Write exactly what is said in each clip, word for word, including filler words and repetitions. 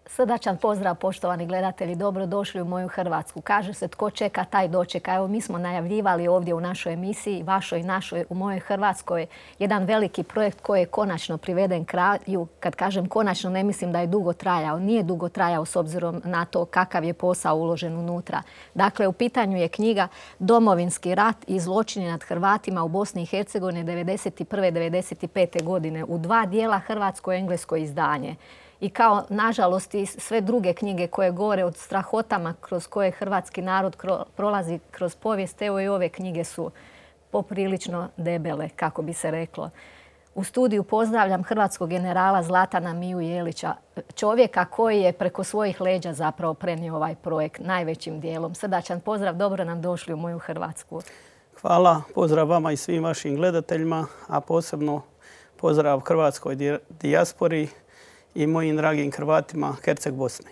Srdačan pozdrav, poštovani gledatelji, dobrodošli u moju Hrvatsku. Kaže se tko čeka, taj dočeka. Evo, mi smo najavljivali ovdje u našoj emisiji, vašoj i našoj, u mojoj Hrvatskoj, jedan veliki projekt koji je konačno priveden kraju. Kad kažem konačno, ne mislim da je dugo trajao. Nije dugo trajao s obzirom na to kakav je posao uložen unutra. Dakle, u pitanju je knjiga Domovinski rat i zločini nad Hrvatima u Bosni i Hercegovini devedeset prve devedeset pete godine u dva dijela, hrvatsko-englesko izdanje. I kao, nažalost, i sve druge knjige koje govore o strahotama kroz koje hrvatski narod prolazi kroz povijest, evo i ove knjige su poprilično debele, kako bi se reklo. U studiju pozdravljam hrvatskog generala Zlatana Miju Jelića, čovjeka koji je preko svojih leđa zapravo prenio ovaj projekt najvećim dijelom. Srdačan pozdrav, dobro nam došli u moju Hrvatsku. Hvala, pozdrav vama i svim vašim gledateljima, a posebno pozdrav hrvatskoj dijaspori i mojim dragim Hrvatima Herceg Bosne.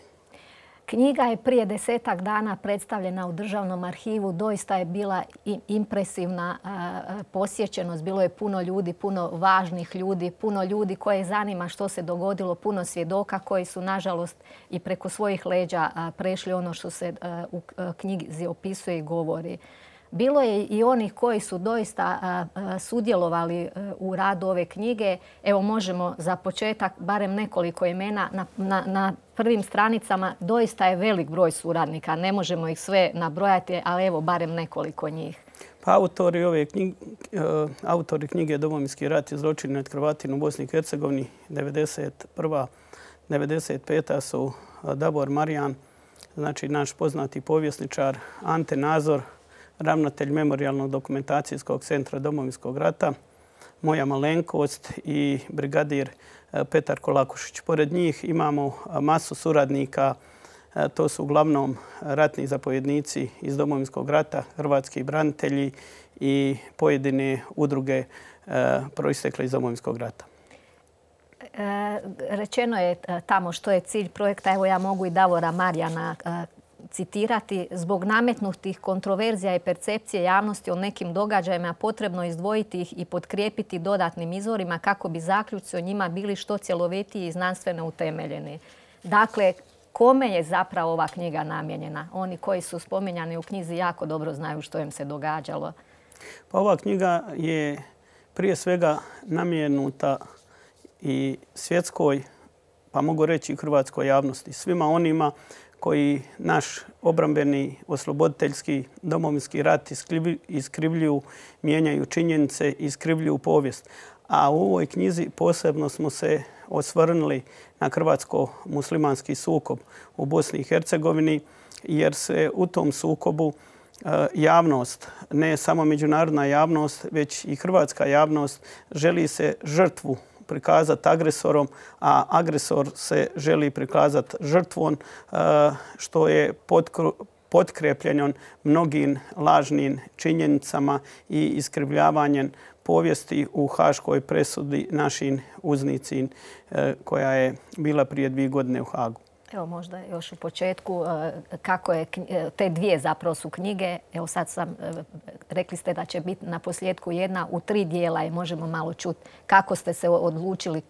Knjiga je prije desetak dana predstavljena u Državnom arhivu. Doista je bila impresivna posjećenost. Bilo je puno ljudi, puno važnih ljudi, puno ljudi koje zanima što se dogodilo, puno svjedoka koji su, nažalost, i preko svojih leđa prešli ono što se u knjizi opisuje i govori. Bilo je i onih koji su doista sudjelovali u radu ove knjige. Evo, možemo za početak barem nekoliko imena. Na, na, na prvim stranicama doista je velik broj suradnika. Ne možemo ih sve nabrojati, ali evo barem nekoliko njih. Pa autori ove knjige, autori knjige Domovinski rat i zločini nad Hrvatima u Bosni i Hercegovini devedeset prva devedeset peta su Davor Marijan, znači naš poznati povjesničar, Ante Nazor, ravnatelj Memorijalnog dokumentacijskog centra Domovinskog rata, moja malenkost i brigadir Petar Kolakušić. Pored njih imamo masu suradnika, to su uglavnom ratni zapovjednici iz Domovinskog rata, hrvatski branitelji i pojedine udruge proistekle iz Domovinskog rata. Rečeno je tamo što je cilj projekta. Evo, ja mogu i Davora Marijana citirati. Zbog nametnutih kontroverzija i percepcije javnosti o nekim događajima potrebno izdvojiti ih i potkrijepiti dodatnim izvorima kako bi zaključci o njima bili što cjelovitiji i znanstveno utemeljeni. Dakle, kome je zapravo ova knjiga namijenjena? Oni koji su spominjani u knjizi jako dobro znaju što im se događalo. Pa ova knjiga je prije svega namijenuta i svjetskoj, pa mogu reći i hrvatskoj javnosti. Svima onima koji naš obrambeni, osloboditeljski, domovinski rat iskrivljuju, mijenjaju činjenice, iskrivljuju povijest. A u ovoj knjizi posebno smo se osvrnuli na hrvatsko-muslimanski sukob u Bosni i Hercegovini, jer se u tom sukobu javnost, ne samo međunarodna javnost, već i hrvatska javnost, želi se žrtvu prikazati agresorom, a agresor se želi prikazati žrtvom, što je potkrepljeno mnogim lažnim činjenicama i iskrivljavanjem povijesti u haškoj presudi našim uznicin koja je bila prije dvije godine u Hagu. Evo, možda još u početku kako je te dvije zapravo su knjige. Evo, sad sam, rekli ste da će biti na posljedku jedna u tri dijela i možemo malo čuti kako ste se odlučili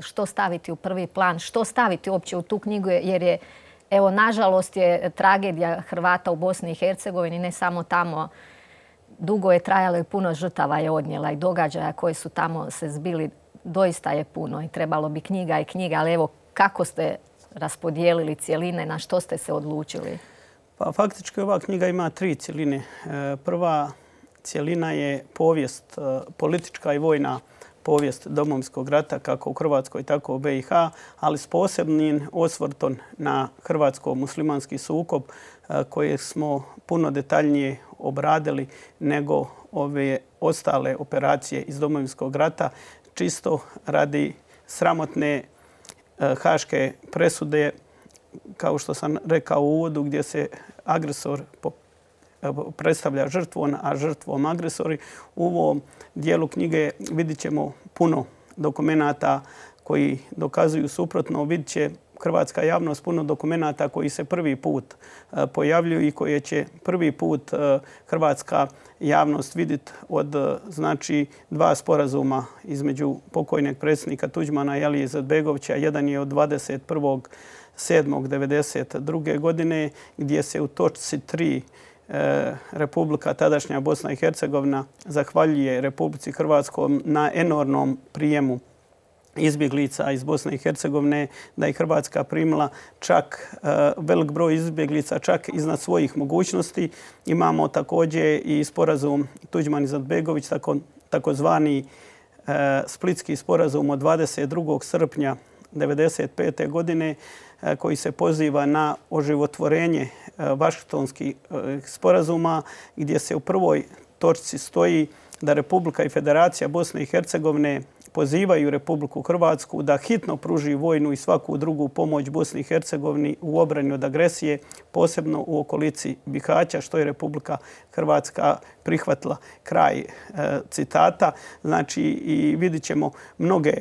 što staviti u prvi plan, što staviti uopće u tu knjigu, jer je, evo, nažalost je tragedija Hrvata u Bosni i Hercegovini, ne samo tamo, dugo je trajalo i puno žrtava je odnijela i događaja koji su tamo se zbili, doista je puno i trebalo bi knjiga i knjiga, ali evo, kako ste raspodijelili cjeline, na što ste se odlučili? Pa faktički ova knjiga ima tri cjeline. Prva cjelina je povijest, politička i vojna povijest Domovinskog rata, kako u Hrvatskoj, tako u B i H, ali s posebnim osvrtom na hrvatsko-muslimanski sukob koje smo puno detaljnije obradili nego ove ostale operacije iz Domovinskog rata, čisto radi sramotne haške presude, kao što sam rekao u uvodu, gdje se agresor predstavlja žrtvom, a žrtvom agresori. U ovom dijelu knjige vidit ćemo puno dokumenata koji dokazuju suprotno. Vidit će hrvatska javnost puno dokumenata koji se prvi put pojavljuju i koje će prvi put hrvatska javnost vidjeti od, znači, dva sporazuma između pokojnog predsjednika Tuđmana i Alije Izetbegovića. Jedan je od dvadeset prvog sedmog devedeset druge godine gdje se u točci tri Republika, tadašnja Bosna i Hercegovina, zahvaljuje Republici Hrvatskoj na enormnom prijemu izbjeglica iz Bosne i Hercegovine, da je Hrvatska primila čak velik broj izbjeglica, čak iznad svojih mogućnosti. Imamo također i sporazum Tuđman-Izetbegović, takozvani Splitski sporazum od dvadeset drugog srpnja devedeset pete godine, koji se poziva na oživotvorenje Vašingtonskih sporazuma, gdje se u prvoj točci stoji da Republika i Federacija Bosne i Hercegovine pozivaju Republiku Hrvatsku da hitno pruži vojnu i svaku drugu pomoć Bosni i Hercegovini u obrani od agresije, posebno u okolici Bihaća, što je Republika Hrvatska prihvatila. Kraj citata. Znači, i vidit ćemo mnoge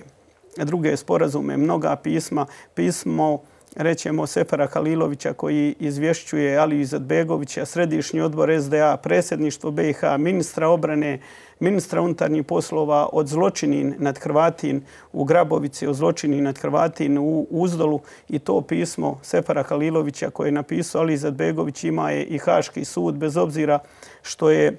druge sporazume, mnoga pisma. Pismo, rećemo, Sefera Halilovića koji izvješćuje Aliju Izetbegovića, Središnji odbor S D A, predsjedništvo B i H, ministra obrane, ministra unutarnjih poslova od zločinin nad Hrvatin u Grabovici, od zločinin nad Hrvatin u Uzdolu. I to pismo Sefera Halilovića koje je napisao Ali Izetbegović ima je i Haški sud, bez obzira što je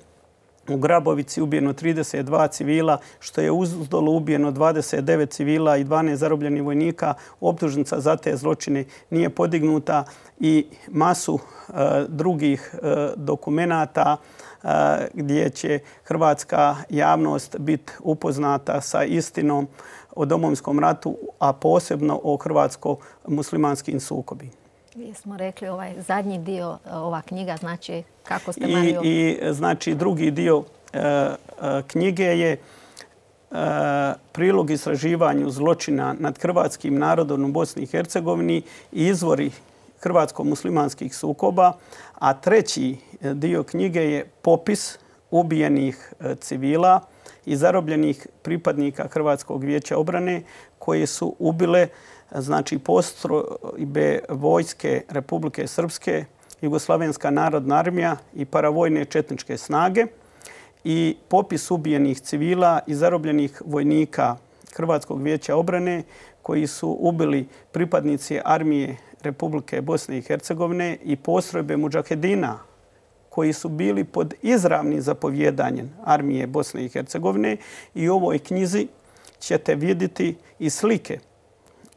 u Grabovici ubijeno trideset dva civila, što je u Uzdolu ubijeno dvadeset devet civila i dvanaest zarobljenih vojnika. Optužnica za te zločine nije podignuta i masu uh, drugih uh, dokumenata uh, gdje će hrvatska javnost biti upoznata sa istinom o Domovinskom ratu, a posebno o hrvatsko-muslimanskim sukobima. Vi smo rekli ovaj zadnji dio, ova knjiga, znači kako ste Mario... I, i znači drugi dio e, e, knjige je e, prilog istraživanju zločina nad hrvatskim narodom u Bosni i Hercegovini i izvori hrvatsko-muslimanskih sukoba, a treći dio knjige je popis ubijenih civila i zarobljenih pripadnika Hrvatskog vijeća obrane koje su ubile znači postrojbe vojske Republike Srpske, Jugoslavenska narodna armija i paravojne četničke snage i popis ubijenih civila i zarobljenih vojnika Hrvatskog vijeća obrane koji su ubili pripadnici armije Republike Bosne i Hercegovine i postrojbe mudžahedina koji su bili pod izravnim zapovjedanjem armije Bosne i Hercegovine. I u ovoj knjizi ćete vidjeti i slike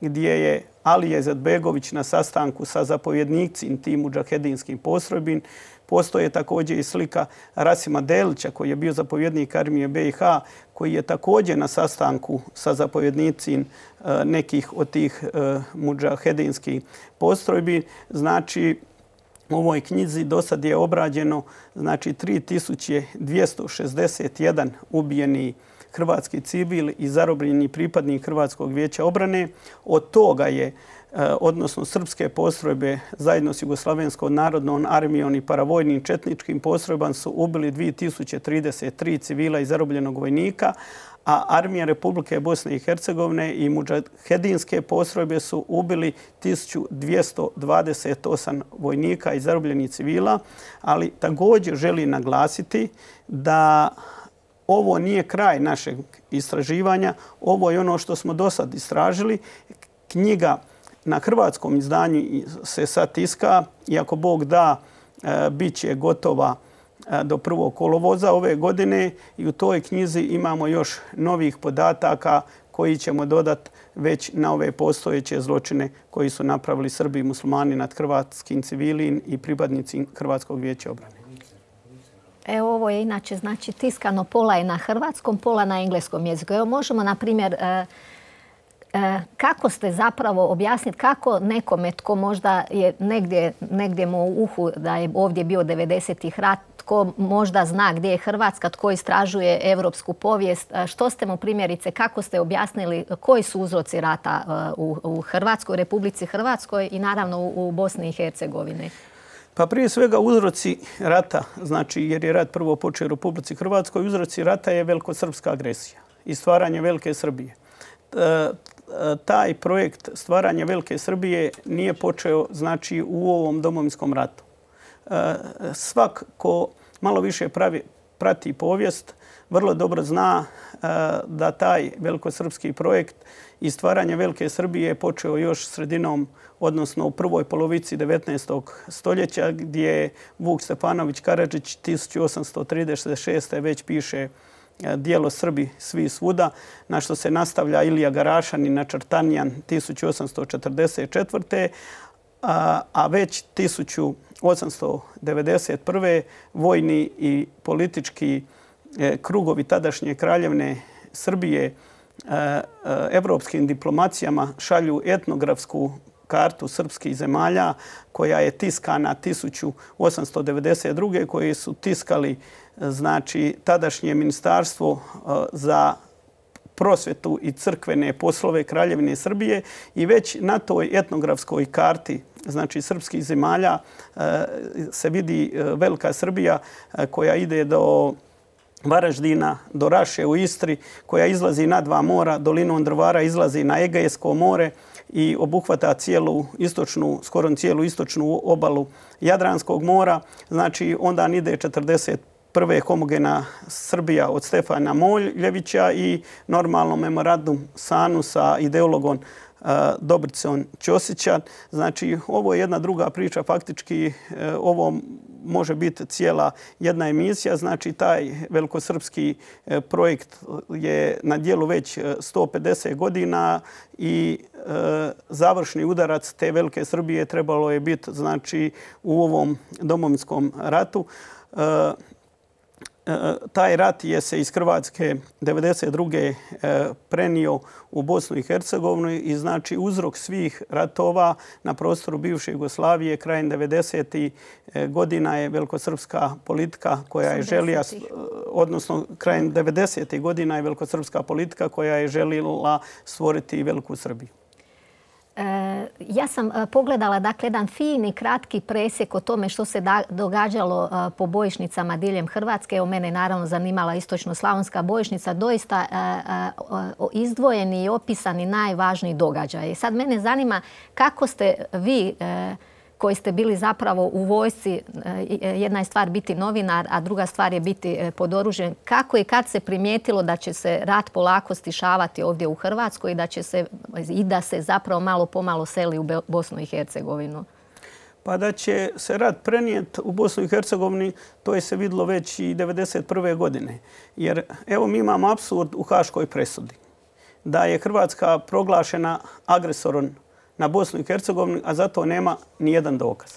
gdje je Alija Izetbegović na sastanku sa zapovjednicima tim mudžahedinskim postrojbin. Postoje također i slika Rasima Delića koji je bio zapovjednik armije B i H, koji je također na sastanku sa zapovjednicima nekih od tih mudžahedinskih postrojbi. Znači, u ovoj knjizi do sad je obrađeno znači, tri tisuće dvjesto šezdeset jedan ubijeni hrvatski civil i zarobljeni pripadnik Hrvatskog vijeća obrane. Od toga je, odnosno srpske postrojbe zajedno s Jugoslavenskom narodnom armijom i paravojnim četničkim postrojbama su ubili dvije tisuće trideset tri civila i zarobljenog vojnika, a armija Republike Bosne i Hercegovine i mudžahedinske postrojbe su ubili tisuću dvjesto dvadeset osam vojnika i zarobljenih civila, ali također želi naglasiti da ovo nije kraj našeg istraživanja, ovo je ono što smo do sad istražili. Knjiga na hrvatskom izdanju se sad tiska i ako Bog da, bit će gotova do prvog kolovoza ove godine i u toj knjizi imamo još novih podataka koji ćemo dodati već na ove postojeće zločine koji su napravili Srbi i muslimani nad hrvatskim civilima i pripadnici Hrvatskog vijeća obrane. Evo, ovo je inače znači tiskano, pola je na hrvatskom, pola na engleskom jeziku. Evo, možemo, na primjer, e, e, kako ste zapravo objasniti kako nekome tko možda je negdje, negdje mu u uhu da je ovdje bio devedesetih rat, tko možda zna gdje je Hrvatska, tko istražuje evropsku povijest, što ste mu primjerice, kako ste objasnili koji su uzroci rata u, u Hrvatskoj, Republici Hrvatskoj i naravno u, u Bosni i Hercegovini? Pa prije svega uzroci rata, znači jer je rat prvo počeo u Republici Hrvatskoj, uzroci rata je velikosrpska agresija i stvaranje Velike Srbije. E, taj projekt stvaranja Velike Srbije nije počeo znači u ovom Domovinskom ratu. E, svak ko malo više pravi, prati povijest vrlo dobro zna da taj velikosrpski projekt i stvaranje Velike Srbije je počeo još sredinom, odnosno u prvoj polovici devetnaestog stoljeća, gdje je Vuk Stefanović Karadžić tisuću osamsto trideset šeste. već piše dijelo Srbi svi svuda, na što se nastavlja Ilija Garašanin Načrtanjan tisuću osamsto četrdeset četvrte. A već tisuću osamsto devedeset prve. vojni i politički krugovi tadašnje kraljevne Srbije evropskim diplomacijama šalju etnografsku kartu srpskih zemalja koja je tiskana tisuću osamsto devedeset druge. koje su tiskali znači tadašnje ministarstvo za prosvjetu i crkvene poslove Kraljevine Srbije i već na toj etnografskoj karti znači srpskih zemalja se vidi Velika Srbija koja ide do Varaždina, do Raše u Istri, koja izlazi na dva mora, dolinom Drvara izlazi na Egejsko more i obuhvata cijelu istočnu, skoro cijelu istočnu obalu Jadranskog mora. Znači onda ide četrdeset prve homogena Srbija od Stefana Moljevića i normalno memorandum Sanu sa ideologom Dobricom Ćosića. Znači, ovo je jedna druga priča. Faktički ovo može biti cijela jedna emisija. Znači, taj velikosrpski projekt je na dijelu već sto pedeset godina i završni udarac te Velike Srbije trebalo je biti znači u ovom Domovinskom ratu. Taj rat je se iz Hrvatske devedeset druge prenio u Bosnu i Hercegovinu i znači uzrok svih ratova na prostoru bivše Jugoslavije krajem devedesetih godina je velikosrpska politika koja je želila, odnosno krajem devedesetih godina je velikosrpska politika koja je željela stvoriti Veliku Srbiju. Ja sam pogledala dakle jedan fini, kratki presjek o tome što se događalo po bojišnicama diljem Hrvatske. Evo, mene naravno zanimala istočno-slavonska bojišnica. Doista izdvojeni i opisani najvažniji događaj. Sad mene zanima kako ste vi koji ste bili zapravo u vojsci, jedna je stvar biti novinar, a druga stvar je biti pod oružjem. Kako i kad se primijetilo da će se rat polako stišavati ovdje u Hrvatskoj i da će se i da se zapravo malo pomalo seli u Bosnu i Hercegovinu? Pa da će se rat prenijeti u Bosnu i Hercegovini, to je se vidjelo već i devedeset prve godine. Jer evo mi imamo apsurd u Haškoj presudi. Da je Hrvatska proglašena agresorom na Bosnu i Hercegovinu, a zato nema ni jedan dokaz.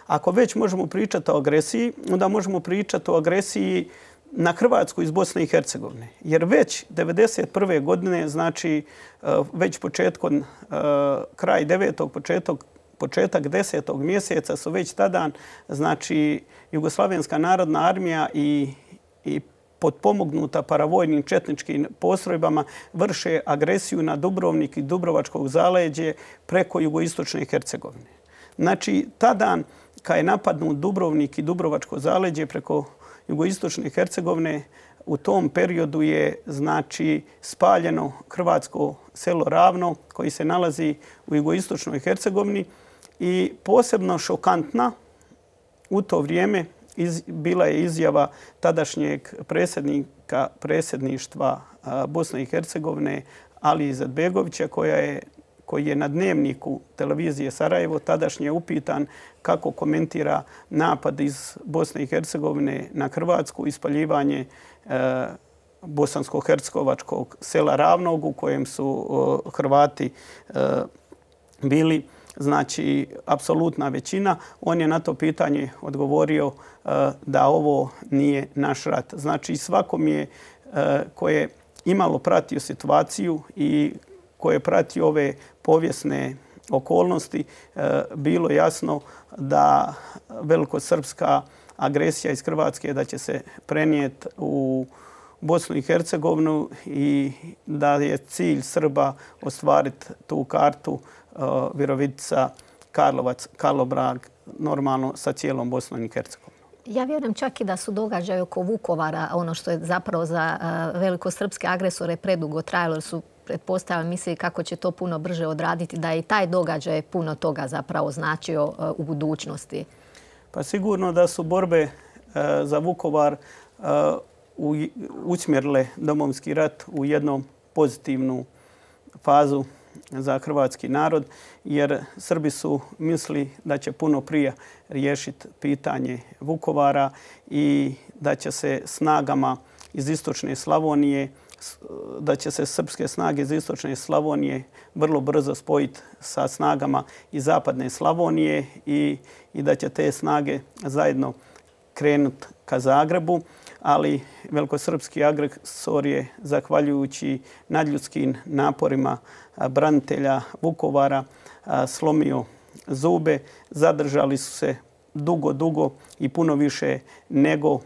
Ako već možemo pričati o agresiji, onda možemo pričati o agresiji na Hrvatsku iz Bosne i Hercegovine. Jer već devedeset prve godine, znači već početkom, kraj devetog, početak, početak desetog mjeseca su već tada, znači Jugoslavenska narodna armija i, i potpomognuta paravojnim četničkim postrojbama vrše agresiju na Dubrovnik i Dubrovačkog zaleđe preko jugoistočne Hercegovine. Znači, tada kad je napadnut Dubrovnik i Dubrovačko zaleđe preko jugoistočne Hercegovine, u tom periodu je znači spaljeno hrvatsko selo Ravno koji se nalazi u jugoistočnoj Hercegovini i posebno šokantna u to vrijeme Iz, bila je izjava tadašnjeg predsjednika predsjedništva Bosne i Hercegovine Alije Izetbegovića koja je, koji je na Dnevniku televizije Sarajevo tadašnje upitan kako komentira napad iz Bosne i Hercegovine na Hrvatsku, ispaljivanje e, bosansko-hercegovačkog sela Ravnog u kojem su o, Hrvati e, bili znači apsolutna većina. On je na to pitanje odgovorio uh, da ovo nije naš rat. Znači svakom je uh, ko je imalo pratio situaciju i ko je pratio ove povijesne okolnosti uh, bilo jasno da velikosrpska agresija iz Hrvatske da će se prenijeti u Bosnu i Hercegovinu i da je cilj Srba ostvariti tu kartu Virovitica, Karlovac, Karlobrag, normalno sa cijelom Bosnom i Hercegovinom. Ja vjerujem čak i da su događaje oko Vukovara, ono što je zapravo za velikosrpske agresore predugo trajalo, jer su pretpostavljam mislili kako će to puno brže odraditi, da je i taj događaj puno toga zapravo značio u budućnosti. Pa sigurno da su borbe za Vukovar usmjerile Domovinski rat u jednu pozitivnu fazu za hrvatski narod, jer Srbi su mislili da će puno prije riješiti pitanje Vukovara i da će se snagama iz istočne Slavonije, da će se srpske snage iz istočne Slavonije vrlo brzo spojiti sa snagama iz zapadne Slavonije i, i da će te snage zajedno krenuti ka Zagrebu, ali velikosrpski agresor je, zahvaljujući nadljudskim naporima branitelja Vukovara, slomio zube. Zadržali su se dugo, dugo i puno više nego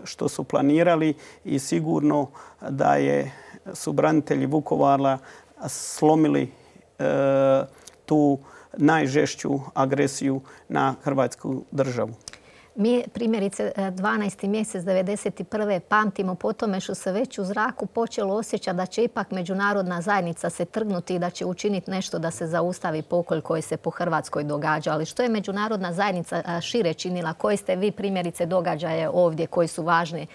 što su planirali i sigurno da je, su branitelji Vukovara slomili e, tu najžešću agresiju na Hrvatsku državu. Mi primjerice dvanaesti mjesec devedeset prve pamtimo po tome što se već u zraku počelo osjećati da će ipak međunarodna zajednica se trgnuti i da će učiniti nešto da se zaustavi pokolj koji se po Hrvatskoj događa. Ali što je međunarodna zajednica šire činila? Koji ste vi primjerice događaje ovdje koji su važni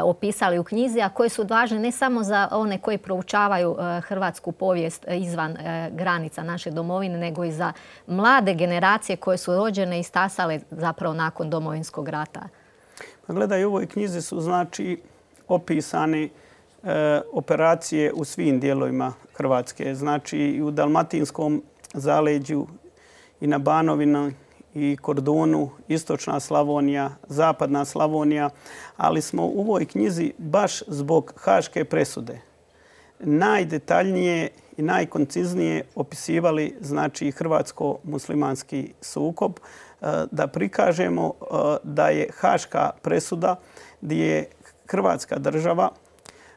opisali u knjizi, a koji su važni ne samo za one koji proučavaju hrvatsku povijest izvan granica naše domovine, nego i za mlade generacije koje su rođene i stasale zapravo nakon Domovinskog rata? Gledaj, u ovoj knjizi su znači opisane e, operacije u svim dijelovima Hrvatske. Znači i u Dalmatinskom zaleđu i na Banovini i Kordunu, istočna Slavonija, zapadna Slavonija, ali smo u ovoj knjizi baš zbog Haške presude najdetaljnije i najkonciznije opisivali znači hrvatsko-muslimanski sukob, da prikažemo da je Haška presuda gdje je Hrvatska država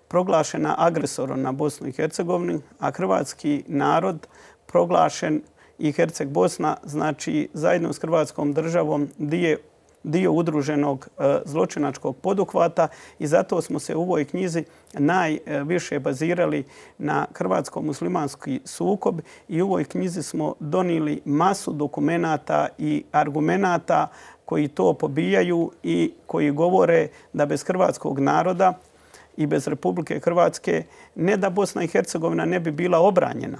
proglašena agresorom na Bosnu i Hercegovinu, a hrvatski narod proglašen i Herceg Bosna, znači zajedno s Hrvatskom državom dio, dio udruženog e, zločinačkog poduhvata i zato smo se u ovoj knjizi najviše bazirali na hrvatsko-muslimanski sukob i u ovoj knjizi smo donijeli masu dokumenata i argumenata koji to pobijaju i koji govore da bez hrvatskog naroda i bez Republike Hrvatske ne da Bosna i Hercegovina ne bi bila obranjena,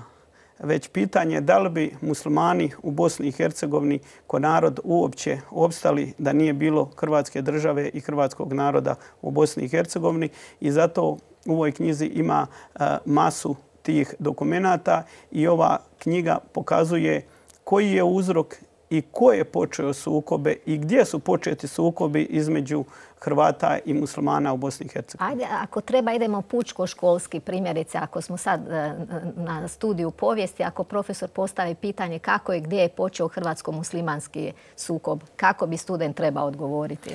već pitanje da li bi muslimani u Bosni i Hercegovini ko narod uopće opstali da nije bilo Hrvatske države i hrvatskog naroda u Bosni i Hercegovini. I zato u ovoj knjizi ima masu tih dokumenata i ova knjiga pokazuje koji je uzrok i ko je počeo sukobe i gdje su početi sukobi između Hrvata i muslimana u Bosni i Hercegovini. Ajde, ako treba idemo pučko-školski primjerice. Ako smo sad na studiju povijesti, ako profesor postavi pitanje kako i gdje je počeo hrvatsko-muslimanski sukob, kako bi student trebao odgovoriti?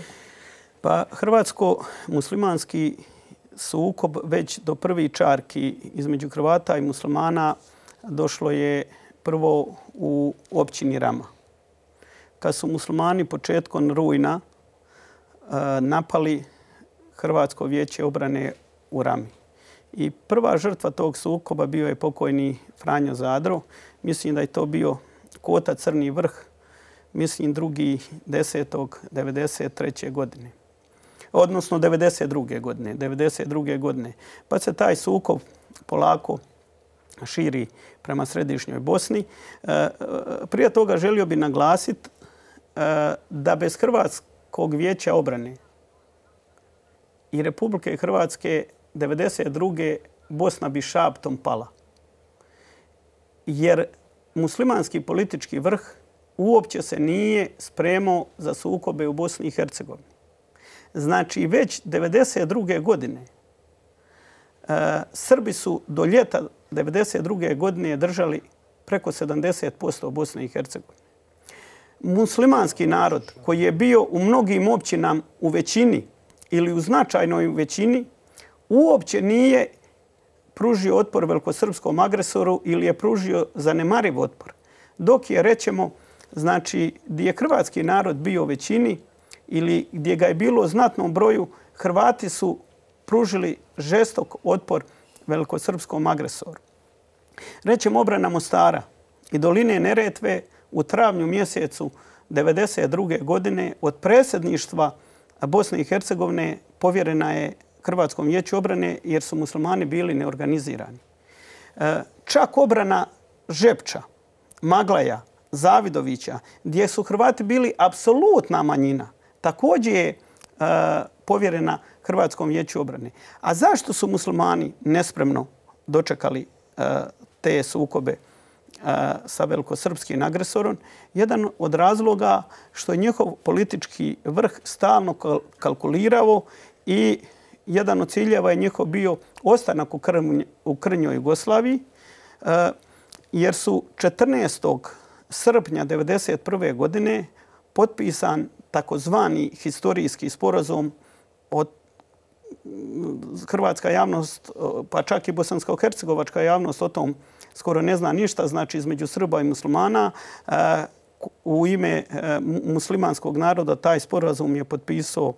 Pa hrvatsko-muslimanski sukob već do prvi čarki između Hrvata i muslimana došlo je prvo u općini Rama. Kad su muslimani početkom rujna napali Hrvatsko vijeće obrane u Rami. I prva žrtva tog sukoba bio je pokojni Franjo Zadro. Mislim da je to bio Kota Crni Vrh, mislim drugi desetog devedeset treće godine. Odnosno devedeset druge godine. devedeset druge godine. Pa se taj sukob polako širi prema središnjoj Bosni. Prije toga želio bi naglasiti da bez Hrvatskog vijeća obrane i Republike Hrvatske devedeset druge Bosna bi šaptom pala. Jer muslimanski politički vrh uopće se nije spremao za sukobe u Bosni i Hercegovini. Znači već devedeset druge godine Srbi su do ljeta devedeset druge godine držali preko sedamdeset posto Bosne i Hercegovine. Muslimanski narod koji je bio u mnogim općinama u većini ili u značajnoj većini uopće nije pružio otpor velikosrpskom agresoru ili je pružio zanemariv otpor. Dok je, rećemo, znači gdje je hrvatski narod bio u većini ili gdje ga je bilo u znatnom broju, Hrvati su pružili žestok otpor velikosrpskom agresoru. Rećemo, obrana Mostara i doline Neretve u travnju mjesecu devedeset druge godine od predsjedništva Bosne i Hercegovine povjerena je Hrvatskom vijeću obrane jer su muslimani bili neorganizirani. Čak obrana Žepča, Maglaja, Zavidovića, gdje su Hrvati bili apsolutna manjina, također je povjerena Hrvatskom vijeću obrane. A zašto su muslimani nespremno dočekali te sukobe sa velikosrpskim agresorom? Jedan od razloga što je njihov politički vrh stalno kalkulirao i jedan od ciljeva je njihov bio ostanak u krnjoj Jugoslaviji, jer su četrnaestog srpnja devedeset prve godine potpisan takozvani historijski sporazum od hrvatska javnost, pa čak i bosansko-hercegovačka javnost o tom skoro ne zna ništa, znači između Srba i muslimana. U ime muslimanskog naroda taj sporazum je potpisao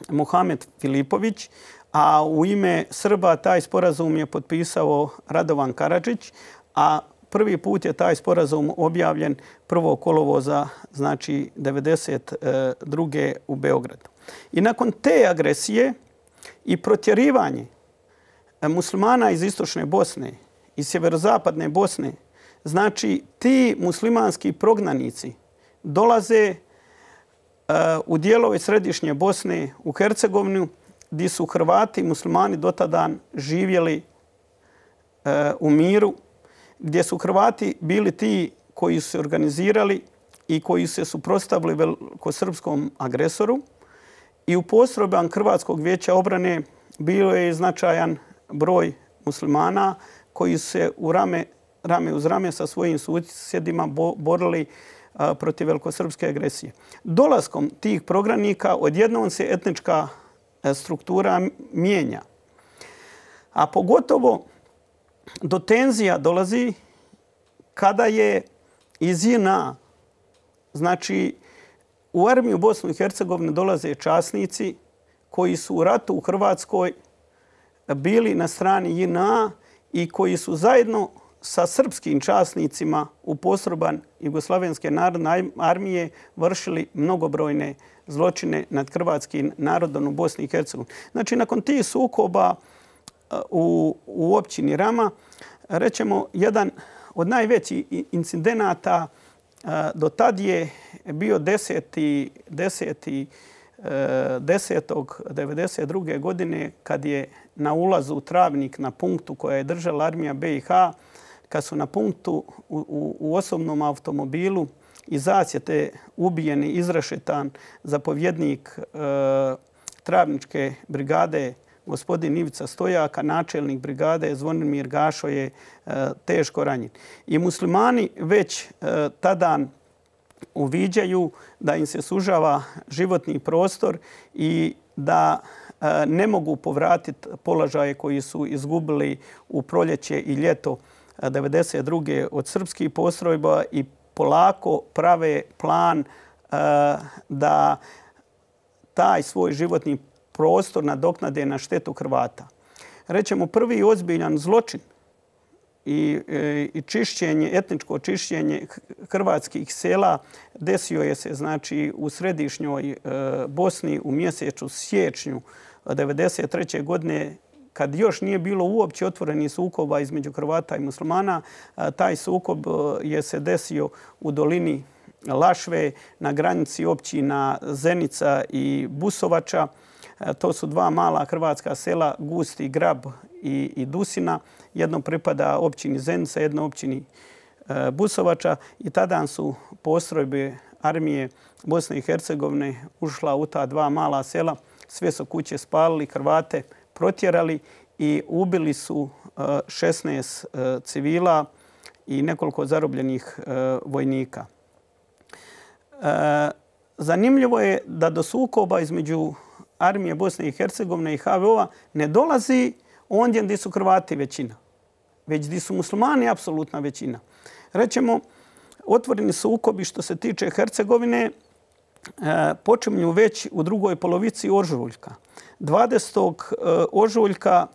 Muhamed Filipović, a u ime Srba taj sporazum je potpisao Radovan Karadžić, a prvi put je taj sporazum objavljen prvog kolovoza, znači devedeset druge u Beogradu. I nakon te agresije i protjerivanje muslimana iz istočne Bosne i sjeverozapadne Bosne, znači ti muslimanski prognanici dolaze u dijelove središnje Bosne, u Hercegovinu, gdje su Hrvati i muslimani dotadan živjeli u miru, gdje su Hrvati bili ti koji su se organizirali i koji su se suprotstavili velikosrpskom agresoru. I u postrojbama Hrvatskog vijeća obrane bio je značajan broj muslimana koji su se u rame, rame uz rame sa svojim susjedima borili protiv velikosrpske agresije. Dolaskom tih prognanika odjednom se etnička struktura mijenja. A pogotovo do tenzija dolazi kada je iz J N A, znači u armiju Bosnu i Hercegovine dolaze časnici koji su u ratu u Hrvatskoj bili na strani J N A i koji su zajedno sa srpskim časnicima u postrojbama Jugoslavenske narodne armije vršili mnogobrojne zločine nad hrvatskim narodom u Bosni i Hercegovini. Znači, nakon tih sukoba u, u općini Rama, rećemo, jedan od najvećih incidenata do tad je bio deseti desetog devedeset druge godine kad je na ulazu u Travnik na punktu koja je držala armija B i H, kad su na punktu u, u, u osobnom automobilu iz zasjete ubijeni, izrešetan zapovjednik e, Travničke brigade gospodin Ivica Stojaka, načelnik brigade Zvonimir Gašo je e, teško ranjen. I muslimani već e, tada uviđaju da im se sužava životni prostor i da e, ne mogu povratiti položaje koji su izgubili u proljeće i ljeto devedeset druge od srpskih postrojba i polako prave plan uh, da taj svoj životni prostor nadoknade na štetu Hrvata. Rećemo, prvi ozbiljan zločin i, i čišćenje, etničko čišćenje hrvatskih sela desio je se, znači, u središnjoj uh, Bosni u mjesecu siječnju devedeset treće godine, kad još nije bilo uopće otvorenih sukoba između Hrvata i muslimana. Taj sukob je se desio u dolini Lašve na granici općina Zenica i Busovača. To su dva mala hrvatska sela, Gusti Grab i, i Dusina. Jedno pripada općini Zenica, jedno općini Busovača. I tada su postrojbe armije Bosne i Hercegovine ušla u ta dva mala sela. Sve su kuće spalili, Hrvate protjerali i ubili su šesnaest civila i nekoliko zarobljenih vojnika. Zanimljivo je da do sukoba između armije Bosne i Hercegovine i H V O-a ne dolazi ondje gdje su Hrvati većina, već gdje su muslimani apsolutna većina. Rećemo, otvoreni sukobi što se tiče Hercegovine počinju već u drugoj polovici ožujka. dvadesetog ožujka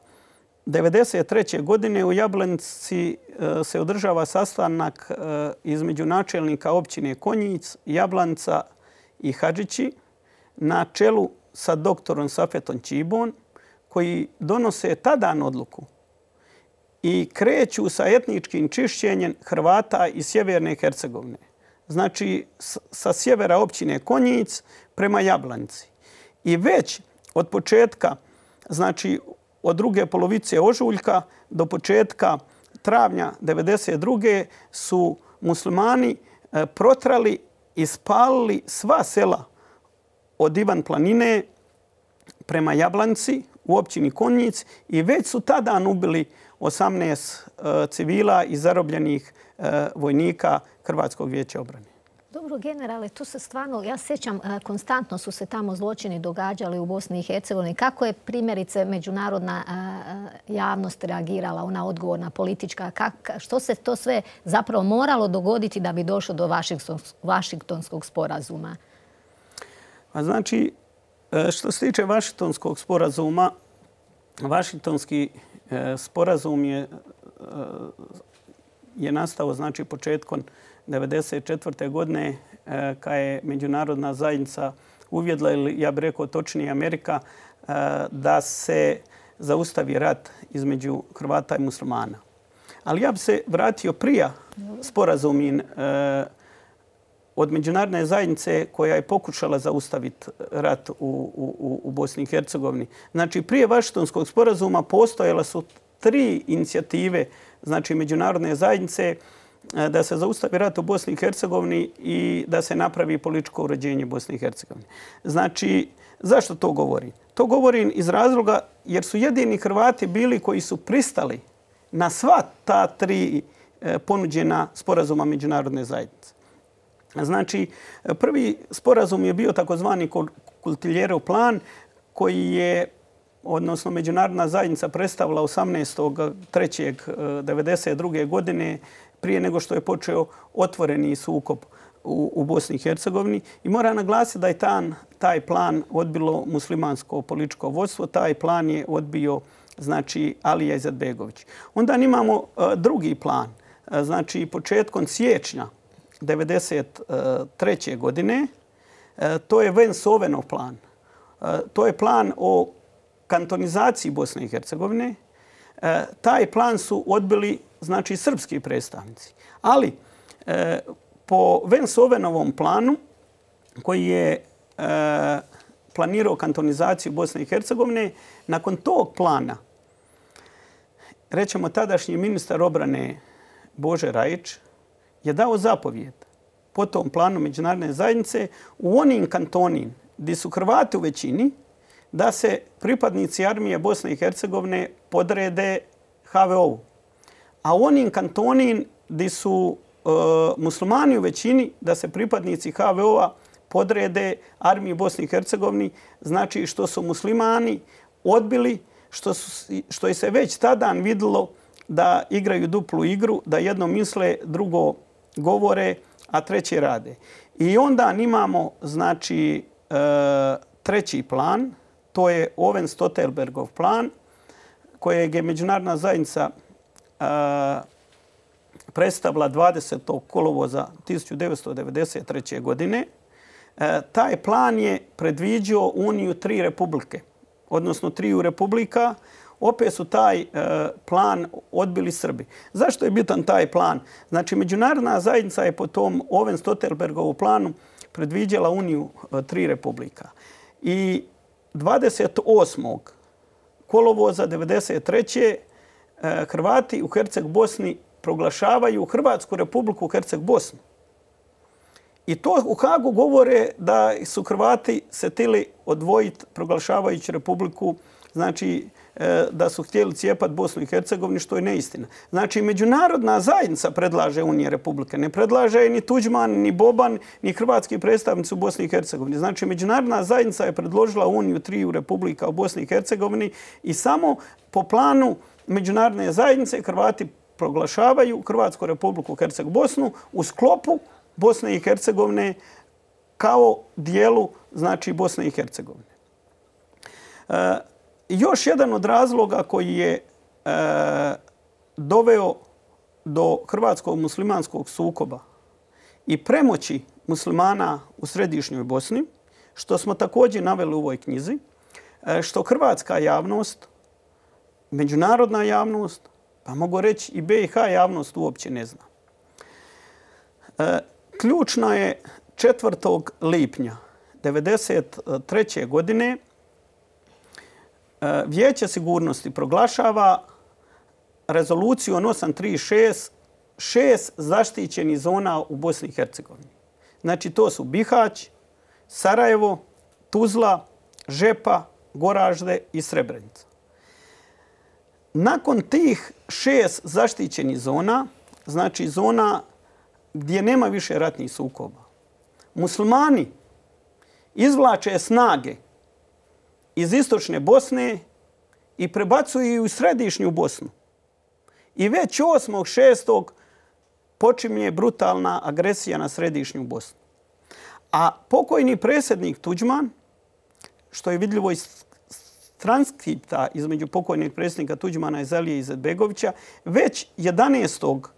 devedeset treće godine u Jablanici se održava sastanak između načelnika općine Konjic, Jablanica i Hadžići na čelu sa doktorom Safetom Čibon, koji donose tadan odluku i kreću sa etničkim čišćenjem Hrvata iz Sjeverne Hercegovine. Znači, sa sjevera općine Konjic prema Jablanci. I već od početka, znači od druge polovice ožujka do početka travnja devedeset druge su muslimani protrali i spalili sva sela od Ivan Planine prema Jablanci u općini Konjic i već su tada ubili osamnaest civila i zarobljenih vojnika Hrvatskog vijeća obrane. Dobro, generale, tu se stvarno, ja sjećam, konstantno su se tamo zločini događali u Bosni i Hercegovini. Kako je primjerice međunarodna javnost reagirala, ona odgovorna politička? Što se to sve zapravo moralo dogoditi da bi došlo do Vašingtonskog sporazuma? Znači, što se tiče Vašingtonskog sporazuma, Vašingtonski sporazum je, je nastao znači, početkom devedeset četvrte godine kada je međunarodna zajednica uvjedla, ili ja bih rekao točnije Amerika, da se zaustavi rat između Hrvata i muslimana. Ali ja bih se vratio prije sporazum od međunarodne zajednice koja je pokušala zaustaviti rat u, u, u Bosni i Hercegovini. Znači, prije Vašingtonskog sporazuma postojala su tri inicijative znači, međunarodne zajednice da se zaustavi rat u Bosni i Hercegovini i da se napravi političko uređenje Bosne i Hercegovine. Znači, zašto to govorim? To govorim iz razloga jer su jedini Hrvati bili koji su pristali na sva ta tri ponuđena sporazuma međunarodne zajednice. Znači, prvi sporazum je bio takozvani Kultiljerov plan koji je, odnosno međunarodna zajednica predstavila osamnaestog trećeg devedeset druge godine prije nego što je počeo otvoreni sukob u, u Bosni i Hercegovini. I mora naglasiti da je tan, taj plan odbilo muslimansko političko vodstvo. Taj plan je odbio znači, Alija Izetbegović. Onda imamo uh, drugi plan. Uh, znači, početkom siječnja devedeset treće godine, uh, to je Vance-Owenov plan. Uh, to je plan o kantonizaciji Bosne i Hercegovine. Uh, taj plan su odbili znači srpski predstavnici. Ali e, po Vance-Owenovom planu koji je e, planirao kantonizaciju Bosne i Hercegovine, nakon tog plana, rećemo tadašnji ministar obrane Bože Rajić je dao zapovjed po tom planu međunarodne zajednice u onim kantonima gdje su Hrvati u većini da se pripadnici armije Bosne i Hercegovine podrede ha ve o-u. A u onim kantonima gdje su e, muslimani u većini da se pripadnici ha ve o-a podrede armiji Bosne i Hercegovine, znači što su muslimani odbili, što, su, što je se već tada vidjelo da igraju duplu igru, da jedno misle, drugo govore, a treće rade. I onda imamo znači, e, treći plan, to je Owen-Stoltenbergov plan, kojeg je međunarodna zajednica predstavila dvadesetog kolovoza tisuću devetsto devedeset treće. godine. Taj plan je predviđao uniju tri republike, odnosno triju republika. Opet su taj plan odbili Srbi. Zašto je bitan taj plan? Znači, međunarodna zajednica je po tom Owen-Stoltenbergovu planu predviđala uniju tri republika. I dvadeset osmog kolovoza devedeset treće. Hrvati u Herceg Bosni proglašavaju Hrvatsku republiku Herceg Bosnu. I to u Hagu govore da su Hrvati se htjeli odvojiti proglašavajući republiku, znači da su htjeli cijepati Bosnu i Hercegovinu, što je neistina. Znači, međunarodna zajednica predlaže unije republike. Ne predlaže ni Tuđman, ni Boban, ni hrvatski predstavnici u Bosni i Hercegovini. Znači, međunarodna zajednica je predložila uniju triju republika u Bosni i Hercegovini i samo po planu međunarodne zajednice Hrvati proglašavaju Hrvatsku republiku Herceg Bosnu u sklopu Bosne i Hercegovine kao dijelu znači Bosne i Hercegovine. E, još jedan od razloga koji je e, doveo do hrvatskog muslimanskog sukoba i premoći muslimana u središnjoj Bosni, što smo također naveli u ovoj knjizi, što hrvatska javnost, međunarodna javnost, pa mogu reći i B i H javnost uopće ne zna. Ključno je četvrtog lipnja devedeset treće godine Vijeće sigurnosti proglašava rezolucijom osam tri šest šest zaštićenih zona u Bosni i Hercegovini. Znači to su Bihać, Sarajevo, Tuzla, Žepa, Goražde i Srebrenica. Nakon tih šest zaštićenih zona, znači zona gdje nema više ratnih sukoba, muslimani izvlače snage iz istočne Bosne i prebacuju ih u središnju Bosnu. I već osmog šestog počinje brutalna agresija na središnju Bosnu. A pokojni predsjednik Tuđman, što je vidljivo iz transkripta između pokojnog predsjednika Tuđmana i Zalije Izetbegovića, već jedanaestog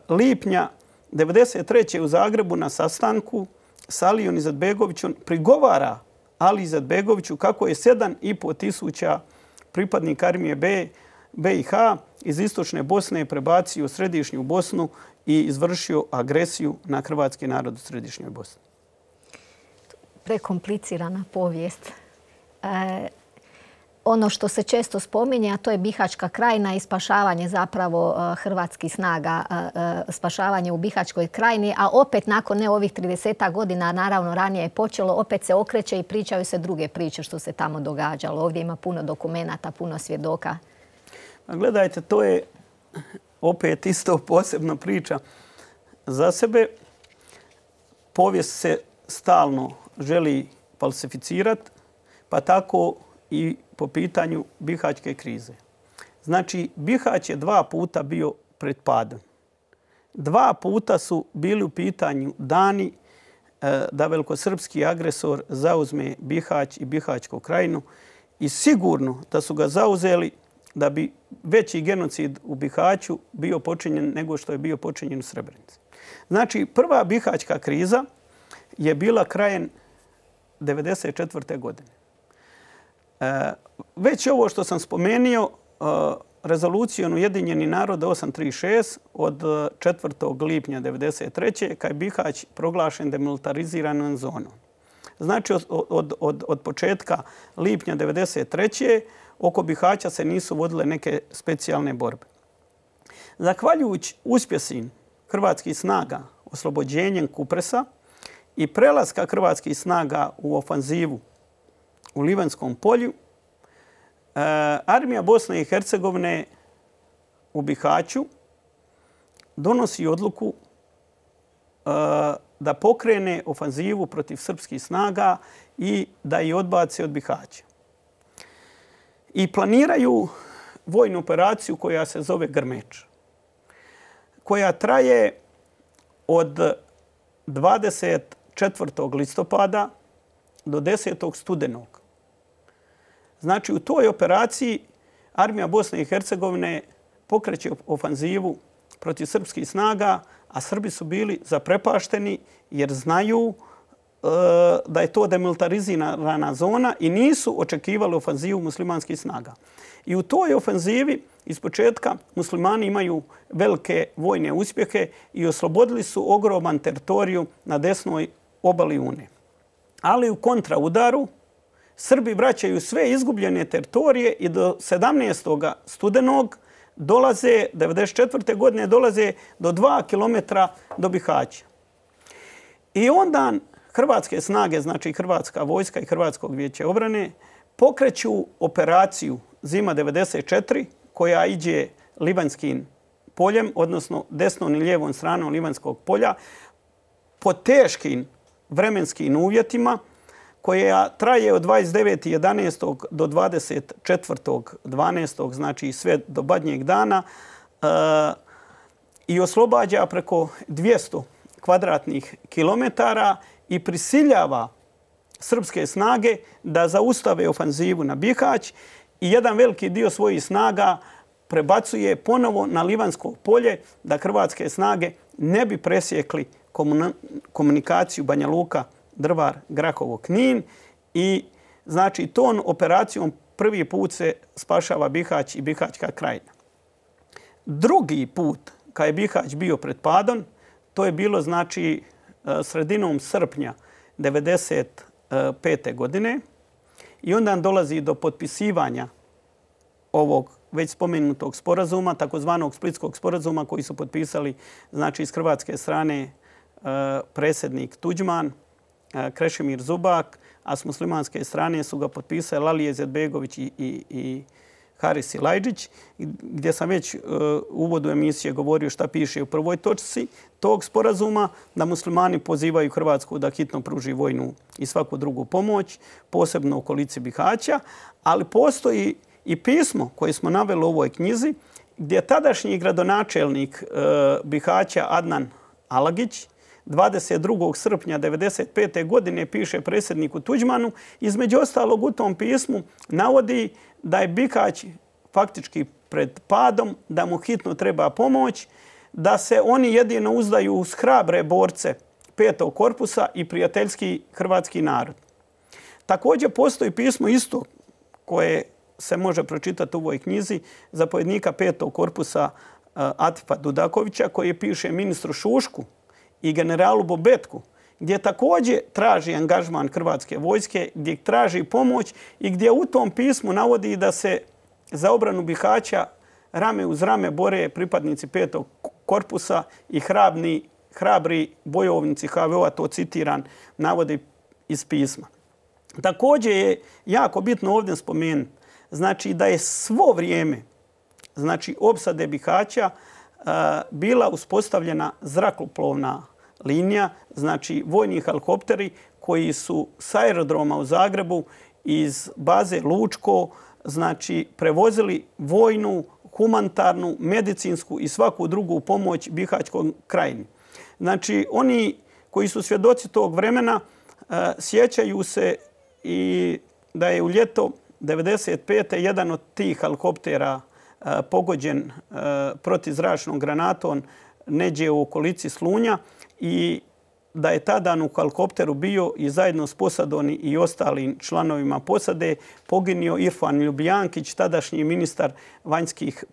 lipnja devedeset treće u Zagrebu na sastanku s Alijom Izetbegovićom prigovara Ali Izetbegoviću kako je sedam i po tisuća pripadnika armije B, B i H iz istočne Bosne prebacio u središnju Bosnu i izvršio agresiju na hrvatski narod u središnjoj Bosni. Prekomplicirana povijest. E, ono što se često spominje, a to je Bihaćka krajina i spašavanje zapravo hrvatskih snaga, spašavanje u Bihaćkoj krajini, a opet nakon ne ovih trideset godina, naravno ranije je počelo, opet se okreće i pričaju se druge priče što se tamo događalo. Ovdje ima puno dokumenata, puno svjedoka. Gledajte, to je opet isto posebna priča za sebe. Povijest se stalno želi falsificirati, pa tako i po pitanju Bihaćke krize. Znači, Bihać je dva puta bio pred padom. Dva puta su bili u pitanju dani da velikosrpski agresor zauzme Bihać i Bihaćku krajinu i sigurno da su ga zauzeli da bi veći genocid u Bihaću bio počinjen nego što je bio počinjen u Srebrenici. Znači, prva Bihaćka kriza je bila krajem devedeset četvrte godine. Već ovo što sam spomenuo, rezolucijom Ujedinjenih naroda osam tri šest od četvrtog lipnja devedeset treće kad je Bihać proglašen demilitariziranom zonom. Znači, od, od, od, od početka lipnja devedeset treće oko Bihaća se nisu vodile neke specijalne borbe. Zahvaljujući uspjesima hrvatskih snaga oslobođenjem Kupresa i prelaska hrvatskih snaga u ofanzivu u Livanskom polju, armija Bosne i Hercegovine u Bihaću donosi odluku da pokrene ofanzivu protiv srpskih snaga i da ih odbace od Bihaća. I planiraju vojnu operaciju koja se zove Grmeč, koja traje od dvadeset četvrtog listopada do desetog studenog. Znači, u toj operaciji armija Bosne i Hercegovine pokreće ofanzivu protiv srpskih snaga, a Srbi su bili zaprepašteni jer znaju e, da je to demilitarizirana zona i nisu očekivali ofanzivu muslimanskih snaga. I u toj ofanzivi iz početka muslimani imaju velike vojne uspjehe i oslobodili su ogroman teritoriju na desnoj obali Une. Ali u kontraudaru Srbi vraćaju sve izgubljene teritorije i do sedamnaestog studenog dolaze, devedeset četvrte godine dolaze do dva kilometra do Bihaća. I onda hrvatske snage, znači Hrvatska vojska i Hrvatskog vijeća obrane, pokreću operaciju Zima devedeset četiri koja iđe Livanskim poljem, odnosno desnom i lijevom stranom Livanskog polja, po teškim vremenskim uvjetima koja traje od dvadeset devetog jedanaestog do dvadeset četvrtog dvanaestog, znači sve do badnjeg dana, e, i oslobađa preko dvjesto kvadratnih kilometara i prisiljava srpske snage da zaustave ofanzivu na Bihać i jedan veliki dio svojih snaga prebacuje ponovo na Livansko polje da hrvatske snage ne bi presjekli komunikaciju Banja Luka, Drvar, Grahovo, Knin i Znači, tom operacijom prvi put se spašava Bihać i Bihaćka krajina. Drugi put, kad je Bihać bio pred padom, to je bilo znači sredinom srpnja devedeset pete. godine i onda dolazi do potpisivanja ovog već spomenutog sporazuma, takozvanog Splitskog sporazuma koji su potpisali znači iz hrvatske strane predsjednik Tuđman, Krešimir Zubak, a s muslimanske strane su ga potpisali Alija Izetbegović i, i, i Haris Silajdžić, gdje sam već u uvodu emisije govorio šta piše u prvoj točci tog sporazuma, da muslimani pozivaju Hrvatsku da hitno pruži vojnu i svaku drugu pomoć, posebno u okolici Bihaća, ali postoji i pismo koje smo naveli u ovoj knjizi, gdje tadašnji gradonačelnik Bihaća Adnan Alagić dvadeset drugog srpnja devedeset pete. godine piše predsjedniku Tuđmanu. Između ostalog u tom pismu navodi da je Bihać faktički pred padom, da mu hitno treba pomoć, da se oni jedino uzdaju uz hrabre borce petog korpusa i prijateljski hrvatski narod. Također postoji pismo isto koje se može pročitati u ovoj knjizi zapovjednika petog korpusa Atifa Dudakovića koji piše ministru Šušku i generalu Bobetku, gdje također traži angažman hrvatske vojske, gdje traži pomoć i gdje u tom pismu navodi da se za obranu Bihaća rame uz rame bore pripadnici petog korpusa i hrabni, hrabri bojovnici ha ve o-a, to citiran, navodi iz pisma. Također je jako bitno ovdje spomenuti, znači da je svo vrijeme znači opsade Bihaća bila uspostavljena zrakoplovna linija, znači vojni helikopteri koji su s aerodroma u Zagrebu iz baze Lučko znači prevozili vojnu, humanitarnu, medicinsku i svaku drugu pomoć Bihaćkom krajini. Znači oni koji su svjedoci tog vremena sjećaju se i da je u ljeto devedeset pete. jedan od tih helikoptera pogođen protizračnom granatom neđe u okolici Slunja i da je tada u helikopteru bio i zajedno s posadom i ostalim članovima posade poginio Irfan Ljubijankić, tadašnji ministar vanjskih,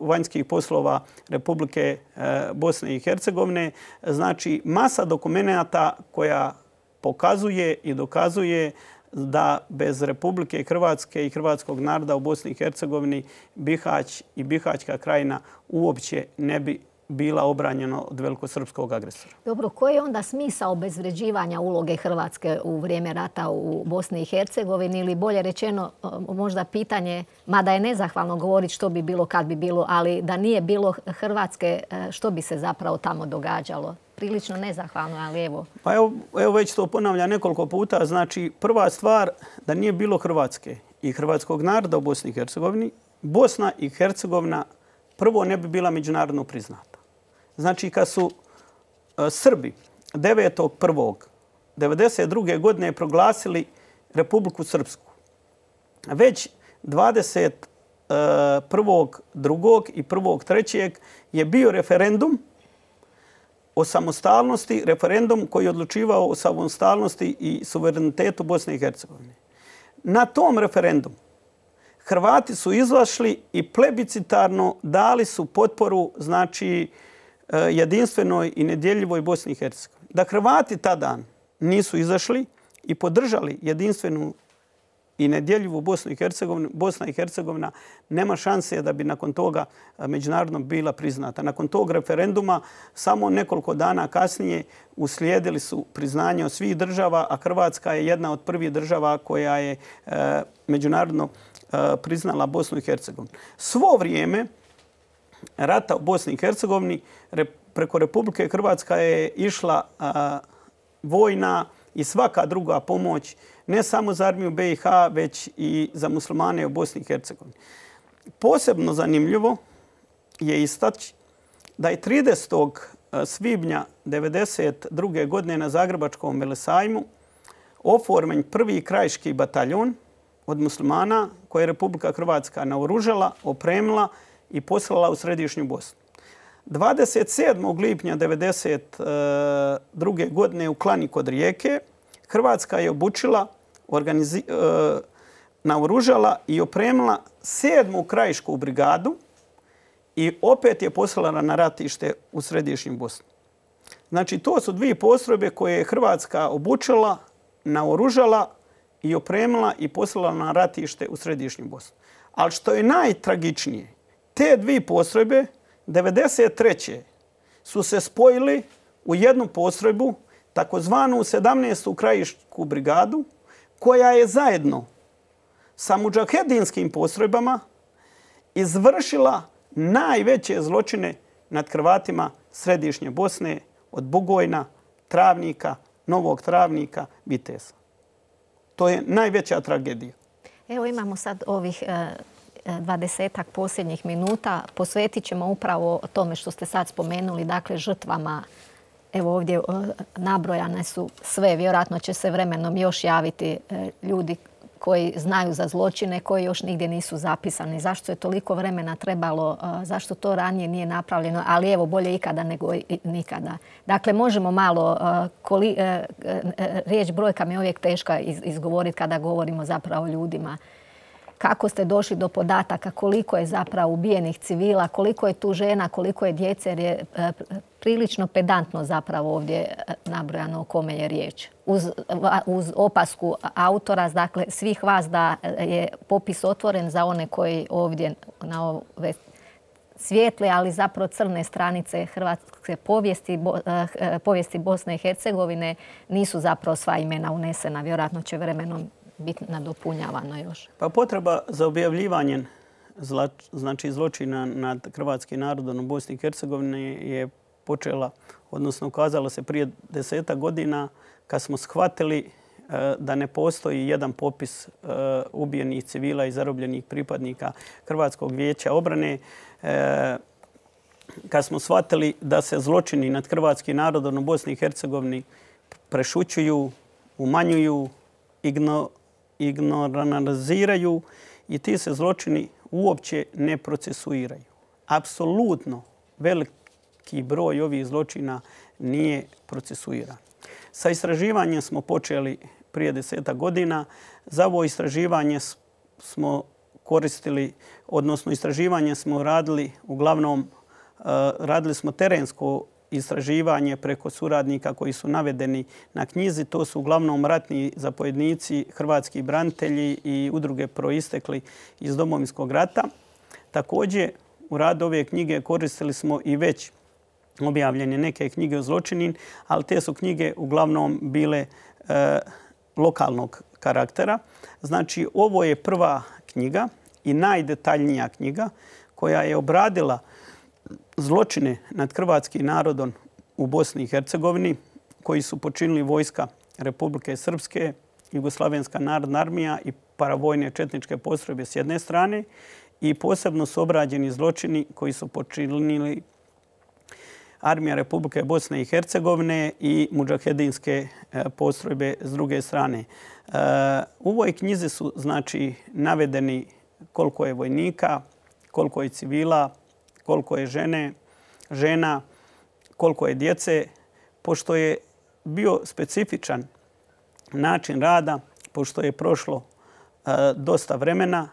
vanjskih poslova Republike Bosne i Hercegovine. Znači masa dokumenata koja pokazuje i dokazuje da bez Republike Hrvatske i hrvatskog naroda u Bosni i Hercegovini Bihać i Bihaćka krajina uopće ne bi bila obranjena od velikosrpskog agresora. Dobro, koji je onda smisao obezvređivanja uloge Hrvatske u vrijeme rata u Bosni i Hercegovini ili bolje rečeno možda pitanje, mada je nezahvalno govoriti što bi bilo kad bi bilo, ali da nije bilo Hrvatske, što bi se zapravo tamo događalo? Prilično nezahvalno, ali evo. Pa evo, evo već to ponavlja nekoliko puta. Znači, prva stvar da nije bilo Hrvatske i hrvatskog naroda u Bosni i Hercegovini, Bosna i Hercegovina prvo ne bi bila međunarodno priznata. Znači, kad su uh, Srbi devetog prvog devedeset druge. godine proglasili Republiku Srpsku, već dvadeset prvog drugog i prvog trećeg je bio referendum o samostalnosti, referendum koji je odlučivao o samostalnosti i suverenitetu Bosne i Hercegovine. Na tom referendumu Hrvati su izašli i plebiscitarno dali su potporu znači jedinstvenoj i nedjeljivoj Bosni i Hercegovini. Da Hrvati tada nisu izašli i podržali jedinstvenu i nedjeljivu Bosnu i Hercegovinu, Bosna i Hercegovina nema šanse da bi nakon toga međunarodno bila priznata. Nakon tog referenduma samo nekoliko dana kasnije uslijedili su priznanje od svih država, a Hrvatska je jedna od prvih država koja je e, međunarodno e, priznala Bosnu i Hercegovinu. Svo vrijeme rata u Bosni i Hercegovini re, preko Republike Hrvatska je išla a, vojna i svaka druga pomoć ne samo za armiju be i ha, već i za muslimane u Bosni i Hercegovini. Posebno zanimljivo je istaći da je tridesetog svibnja devedeset druge. godine na Zagrebačkom Velesajmu oformen prvi krajiški bataljon od muslimana koje je Republika Hrvatska naoružala, opremila i poslala u središnju Bosnu. dvadeset sedmog lipnja devedeset druge. godine u Klani kod Rijeke Hrvatska je obučila, naoružala i opremila sedmu krajišku brigadu i opet je poslala na ratište u središnju Bosnu. Znači, to su dvije postrojbe koje je Hrvatska obučila, naoružala i opremila i poslala na ratište u središnju Bosnu. Ali što je najtragičnije, te dvije postrojbe devedeset treće su se spojili u jednu postrojbu, takozvanu sedamnaestu krajišku brigadu, koja je zajedno sa mudžahedinskim postrojbama izvršila najveće zločine nad Hrvatima središnje Bosne od Bugojna, Travnika, Novog Travnika, Viteza. To je najveća tragedija. Evo imamo sad ovih dvadesetak posljednjih minuta. Posvetit ćemo upravo tome što ste sad spomenuli, dakle žrtvama. Evo ovdje nabrojane su sve. Vjerojatno će se vremenom još javiti ljudi koji znaju za zločine, koji još nigdje nisu zapisani. Zašto je toliko vremena trebalo, zašto to ranije nije napravljeno, ali evo bolje ikada nego nikada. Dakle, možemo malo, koli, riječ brojka mi je uvijek teška izgovoriti kada govorimo zapravo o ljudima. Kako ste došli do podataka, koliko je zapravo ubijenih civila, koliko je tu žena, koliko je djece, jer je prilično pedantno zapravo ovdje nabrojano o kome je riječ. Uz, uz opasku autora, dakle svih vas, da je popis otvoren za one koji ovdje na ove svijetle, ali zapravo crne stranice hrvatske povijesti, povijesti Bosne i Hercegovine nisu zapravo sva imena unesena. Vjerojatno će vremenom biti nadopunjavano još. Pa potreba za objavljivanjem znači zločina nad hrvatskim narodom u Bosni i Hercegovini je počela, odnosno ukazala se prije desetak godina kad smo shvatili da ne postoji jedan popis ubijenih civila i zarobljenih pripadnika Hrvatskog vijeća obrane. Kad smo shvatili da se zločini nad hrvatskim narodom u Bosni i Hercegovini prešućuju, umanjuju, igno, ignoranaliziraju i ti se zločini uopće ne procesuiraju. Apsolutno veliki broj ovih zločina nije procesuiran. Sa istraživanjem smo počeli prije desetak godina. Za ovo istraživanje smo koristili, odnosno istraživanje smo radili, uglavnom radili smo terensko istraživanje preko suradnika koji su navedeni na knjizi. To su uglavnom ratni zapovjednici, hrvatski branitelji i udruge proistekli iz Domovinskog rata. Također, u radu ove knjige koristili smo i već objavljene neke knjige o zločinin, ali te su knjige uglavnom bile e, lokalnog karaktera. Znači, ovo je prva knjiga i najdetaljnija knjiga koja je obradila zločine nad hrvatskim narodom u Bosni i Hercegovini koji su počinili vojska Republike Srpske, Jugoslavenska narodna armija i paravojne četničke postrojbe s jedne strane i posebno su obrađeni zločini koji su počinili Armija Republike Bosne i Hercegovine i mudžahedinske postrojbe s druge strane. U ovoj knjizi su znači navedeni koliko je vojnika, koliko je civila, koliko je žene, žena, koliko je djece. Pošto je bio specifičan način rada, pošto je prošlo dosta vremena,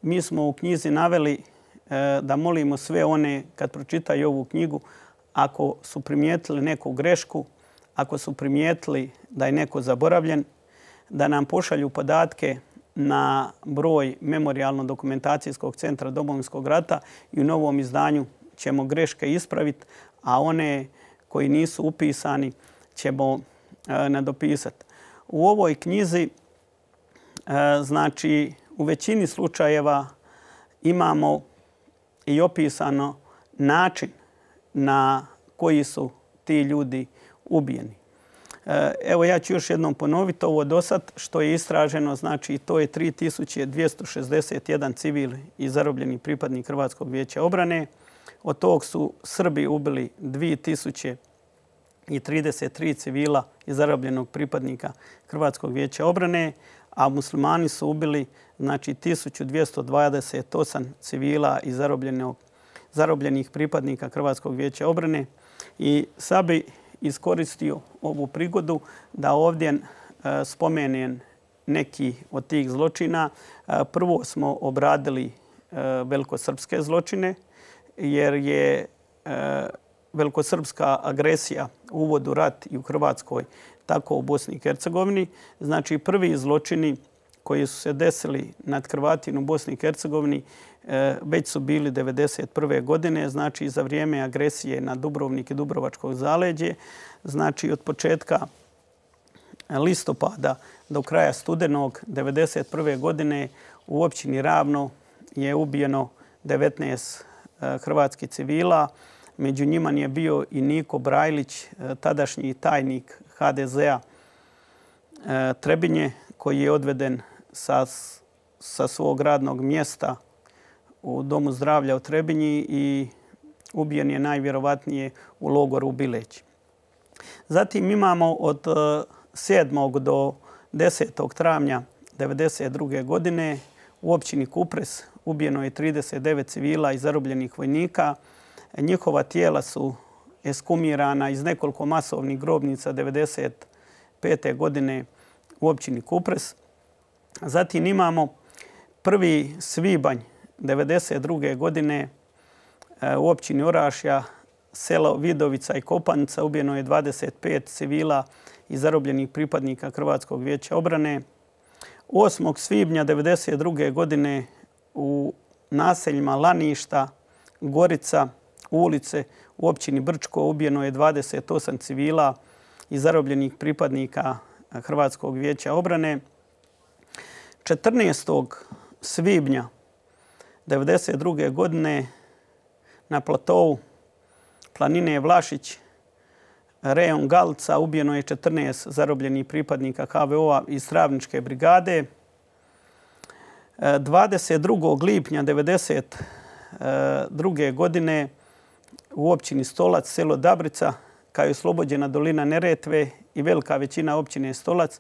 mi smo u knjizi naveli da molimo sve one kad pročitaju ovu knjigu, ako su primijetili neku grešku, ako su primijetili da je neko zaboravljen, da nam pošalju podatke na broj Memorijalno-dokumentacijskog centra Domovinskog rata i u novom izdanju ćemo greške ispraviti, a one koji nisu upisani ćemo e, nadopisati. U ovoj knjizi, e, znači, u većini slučajeva imamo i opisano način na koji su ti ljudi ubijeni. Evo, ja ću još jednom ponoviti ovo do sad što je istraženo. Znači, to je tri tisuće dvjesto šezdeset jedan civil i zarobljeni pripadnik Hrvatskog vijeća obrane. Od tog su Srbi ubili dvije tisuće trideset tri civila i zarobljenog pripadnika Hrvatskog vijeća obrane, a muslimani su ubili znači tisuću dvjesto dvadeset osam civila i zarobljenih pripadnika Hrvatskog vijeća obrane. I sad bi iskoristio ovu prigodu da ovdje spomenem neki od tih zločina. Prvo smo obradili velikosrpske zločine, jer je velikosrpska agresija u uvodu rat i u Hrvatskoj, tako u Bosni i Hercegovini. Znači, prvi zločini koji su se desili nad Hrvatima u Bosni i Hercegovini već su bili devedeset prve godine, znači za vrijeme agresije na Dubrovnik i Dubrovačko zaleđe. Znači, od početka listopada do kraja studenog devedeset prve godine u općini Ravno je ubijeno devetnaest hrvatskih civila. Među njima je bio i Niko Brajlić, tadašnji tajnik ha de zea Trebinje, koji je odveden sa, sa svog radnog mjesta u Domu zdravlja u Trebinji i ubijen je najvjerovatnije u logoru u Bileći. Zatim imamo od sedmog do desetog travnja devedeset druge godine u općini Kupres ubijeno je trideset devet civila i zarobljenih vojnika. Njihova tijela su eskumirana iz nekoliko masovnih grobnica devedeset pete godine u općini Kupres. Zatim imamo prvi svibanj devedeset druge godine u općini Orašja, selo Vidovica i Kopanica ubijeno je dvadeset pet civila i zarobljenih pripadnika Hrvatskog vijeća obrane. osmog svibnja devedeset druge godine u naseljima Laništa, Gorica, Ulice u općini Brčko ubijeno je dvadeset osam civila i zarobljenih pripadnika Hrvatskog vijeća obrane. četrnaestog svibnja devedeset druge godine na platovu planine Vlašić, rejon Galca ubijeno je četrnaest zarobljenih pripadnika ha ve o-a iz Travničke brigade. dvadeset drugog lipnja devedeset druge godine u općini Stolac, selo Dabrica, kao je oslobođena dolina Neretve i velika većina općine Stolac,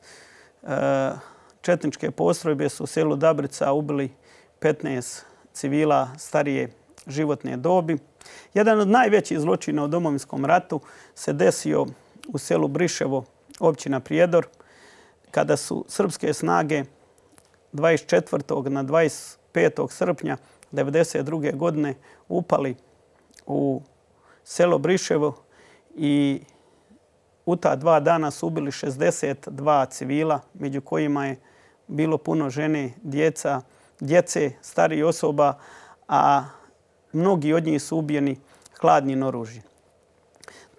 četničke postrojbe su u selu Dabrica ubili petnaest civila starije životne dobi. Jedan od najvećih zločina u Domovinskom ratu se desio u selu Briševo, općina Prijedor, kada su srpske snage dvadeset četvrtog na dvadeset petog srpnja devedeset druge godine upali u selo Briševo i u ta dva dana su ubili šezdeset dva civila, među kojima je bilo puno žene, djeca, djece, starijih osoba, a mnogi od njih su ubijeni hladnim oružjem.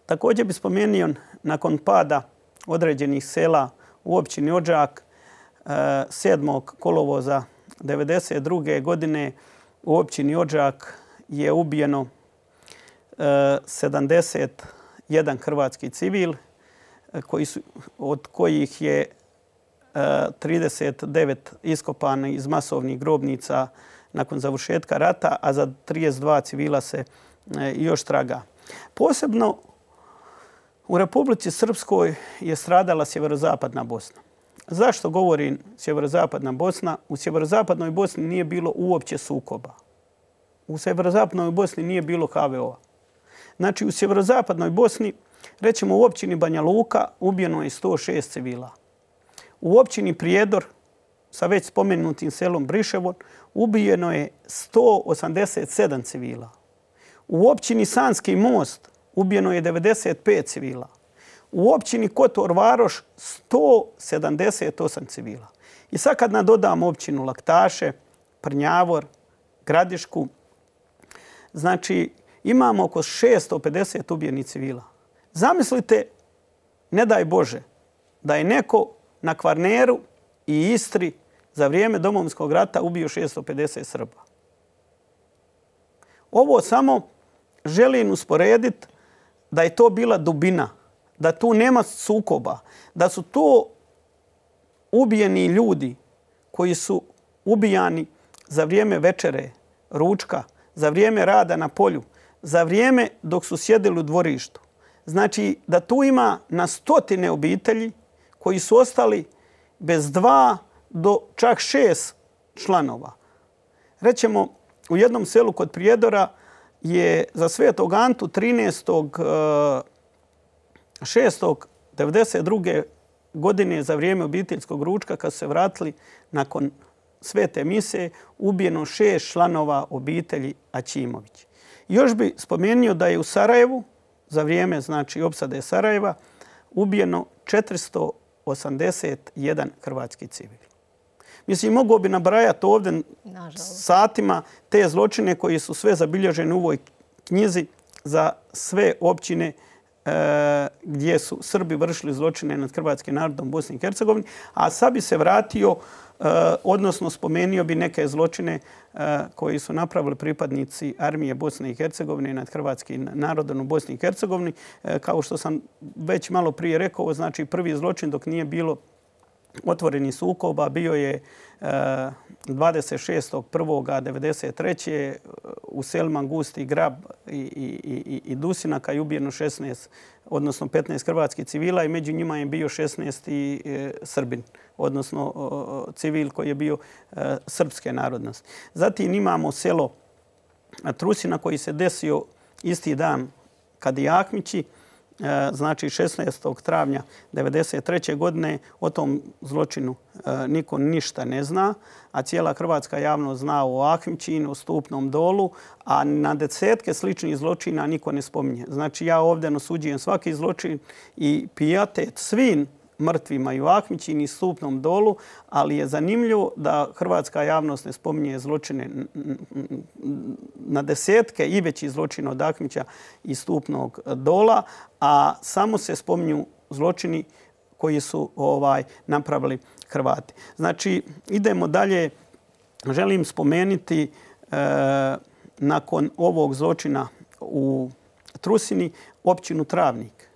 Također bi spomenuo nakon pada određenih sela u općini Odžak sedmog kolovoza devedeset druge godine u općini Odžak je ubijeno sedamdeset jedan hrvatski civil, koji su, od kojih je trideset devet iskopani iz masovnih grobnica nakon završetka rata, a za trideset dva civila se još traga. Posebno u Republici Srpskoj je stradala sjeverozapadna Bosna. Zašto govorim sjeverozapadna Bosna? U sjeverozapadnoj Bosni nije bilo uopće sukoba. U sjeverozapadnoj Bosni nije bilo ha ve o-a. Znači, u sjeverozapadnoj Bosni, rećemo u općini Banja Luka, ubijeno je sto šest civila. U općini Prijedor, sa već spomenutim selom Briševo, ubijeno je sto osamdeset sedam civila. U općini Sanski Most ubijeno je devedeset pet civila. U općini Kotor Varoš sto sedamdeset osam civila. I sad kad nadodamo općinu Laktaše, Prnjavor, Gradišku, znači imamo oko šesto pedeset ubijenih civila. Zamislite, ne daj Bože, da je neko na Kvarneru i Istri za vrijeme Domovinskog rata ubio šesto pedeset Srba. Ovo samo želim usporediti da je to bila dubina, da tu nema sukoba, da su to ubijeni ljudi koji su ubijani za vrijeme večere, ručka, za vrijeme rada na polju, za vrijeme dok su sjedili u dvorištu. Znači da tu ima na stotine obitelji koji su ostali bez dva do čak šest članova. Rećemo, u jednom selu kod Prijedora je za Svetog Antu trinaestog šestog devedeset druge godine za vrijeme obiteljskog ručka, kad su se vratili nakon svete mise, ubijeno šest članova obitelji Aćimović. Još bi spomenuo da je u Sarajevu za vrijeme znači opsade Sarajeva ubijeno četiristo osamdeset jedan hrvatski civil. Mislim, mogu bi nabrajati ovdje satima te zločine koji su sve zabilježeni u ovoj knjizi za sve općine e, gdje su Srbi vršili zločine nad hrvatskim narodom u Bosni i Hercegovini. A sad bi se vratio, e, odnosno spomenuo bi neke zločine e, koji su napravili pripadnici armije Bosne i Hercegovine nad hrvatskim narodom u Bosni i Hercegovini. E, kao što sam već malo prije rekao, znači prvi zločin dok nije bilo otvorenih sukoba bio je dvadeset šestog prvog devedeset treće u selima Gusti Grab i, i, i Dusinaka je ubijeno šesnaest, odnosno petnaest hrvatskih civila i među njima je bio šesnaesti Srbin, odnosno civil koji je bio srpske narodnosti. Zatim imamo selo Trusina koji se desio isti dan kad i Ahmići, znači šesnaestog travnja devedeset treće godine. O tom zločinu niko ništa ne zna, a cijela hrvatska javnost zna o Ahmićinu, o Stupnom dolu, a na desetke sličnih zločina niko ne spominje. Znači ja ovdje osuđujem svaki zločin i pijetet svim mrtvima i u Ahmićinu i Stupnom dolu, ali je zanimljivo da hrvatska javnost ne spominje zločine na desetke i veći zločina od Ahmića i Stupnog dola, a samo se spominju zločini koji su ovaj napravili Hrvati. Znači, idemo dalje. Želim spomenuti e, nakon ovog zločina u Trusini općinu Travnik,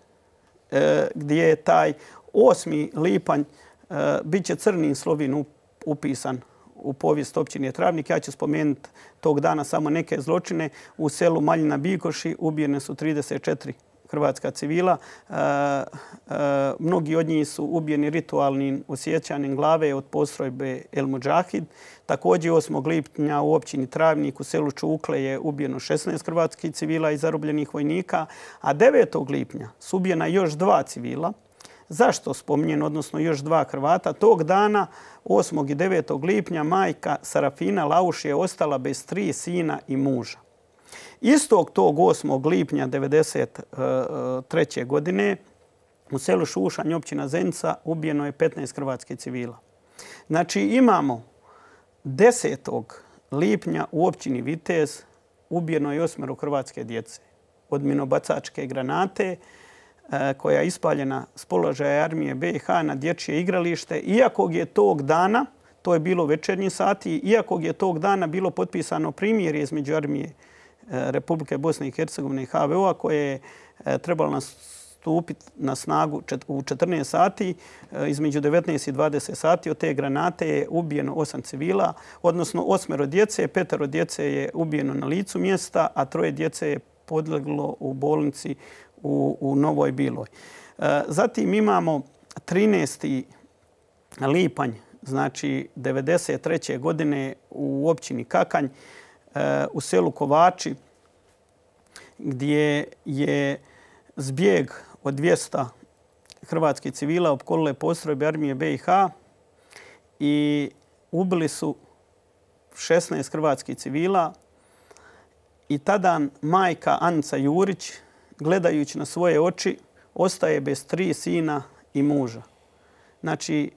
e, gdje je taj osmi lipanj uh, bit će crnim slovim upisan u povijest općine Travnik. Ja ću spomenuti tog dana samo neke zločine. U selu Maljina Bikoši ubijene su trideset četiri hrvatska civila. Uh, uh, mnogi od njih su ubijeni ritualnim osjećanjem glave od postrojbe El Mudžahid. Također osmog lipnja u općini Travnik u selu Čukle je ubijeno šesnaest hrvatskih civila i zarobljenih vojnika, a devetog lipnja su ubijena još dva civila. Zašto spominjem, odnosno još dva Hrvata? Tog dana, osmog i devetog lipnja, majka Sarafina Lauš je ostala bez tri sina i muža. Istog tog osmog lipnja devedeset treće godine u selu Šušanj, općina Zenica, ubijeno je petnaest hrvatskih civila. Znači imamo desetog lipnja u općini Vitez ubijeno je osmero hrvatske djece od minobacačke granate koja je ispaljena s položaja armije B i H na dječje igralište, iako je tog dana, to je bilo večernji sati, iako je tog dana bilo potpisano primirje između armije Republike Bosne i Hercegovine i H V O-a koje je trebalo nastupiti na snagu u četrnaest sati, između devetnaest i dvadeset sati. Od te granate je ubijeno osam civila, odnosno osmero djece, petero djece je ubijeno na licu mjesta, a troje djece je podleglo u bolnici u, u Novoj Biloj. Zatim imamo trinaesti lipanj, znači devedeset treće godine u općini Kakanj, u selu Kovači, gdje je zbjeg od dvjesto hrvatskih civila opkolile postrojbe armije B i H i ubili su šesnaest hrvatskih civila. I tada majka Anica Jurić, gledajući na svoje oči, ostaje bez tri sina i muža. Znači,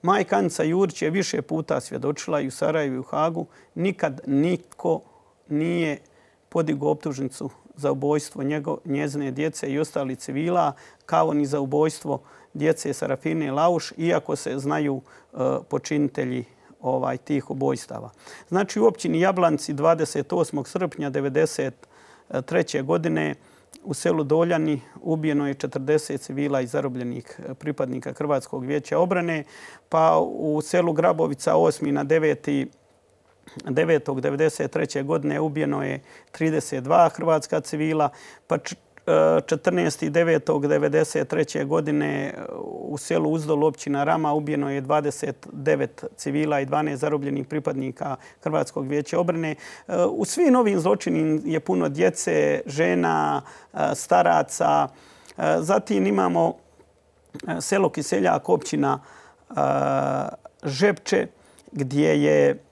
majka Anica Jurić je više puta svjedočila i u Sarajevu i u Hagu. Nikad niko nije podigao optužnicu za ubojstvo njego, njezine djece i ostalih civila, kao ni za ubojstvo djece Sarafine Lauš, iako se znaju uh, počinitelji ovaj, tih ubojstava. Znači, u općini Jablanci dvadeset osmog srpnja devedeset treće godine u selu Doljani ubijeno je četrdeset civila i zarobljenih pripadnika Hrvatskog vijeća obrane, pa u selu Grabovica osmi na deveti devetog devedeset treće godine ubijeno je trideset dva hrvatska civila, pa četrnaestog devetog devedeset treće godine u selu Uzdol, općina Rama, ubijeno je dvadeset devet civila i dvanaest zarobljenih pripadnika Hrvatskog vijeća obrane. U svim ovim zločinima je puno djece, žena, staraca. Zatim imamo selo Kiseljak, općina Žepče, gdje je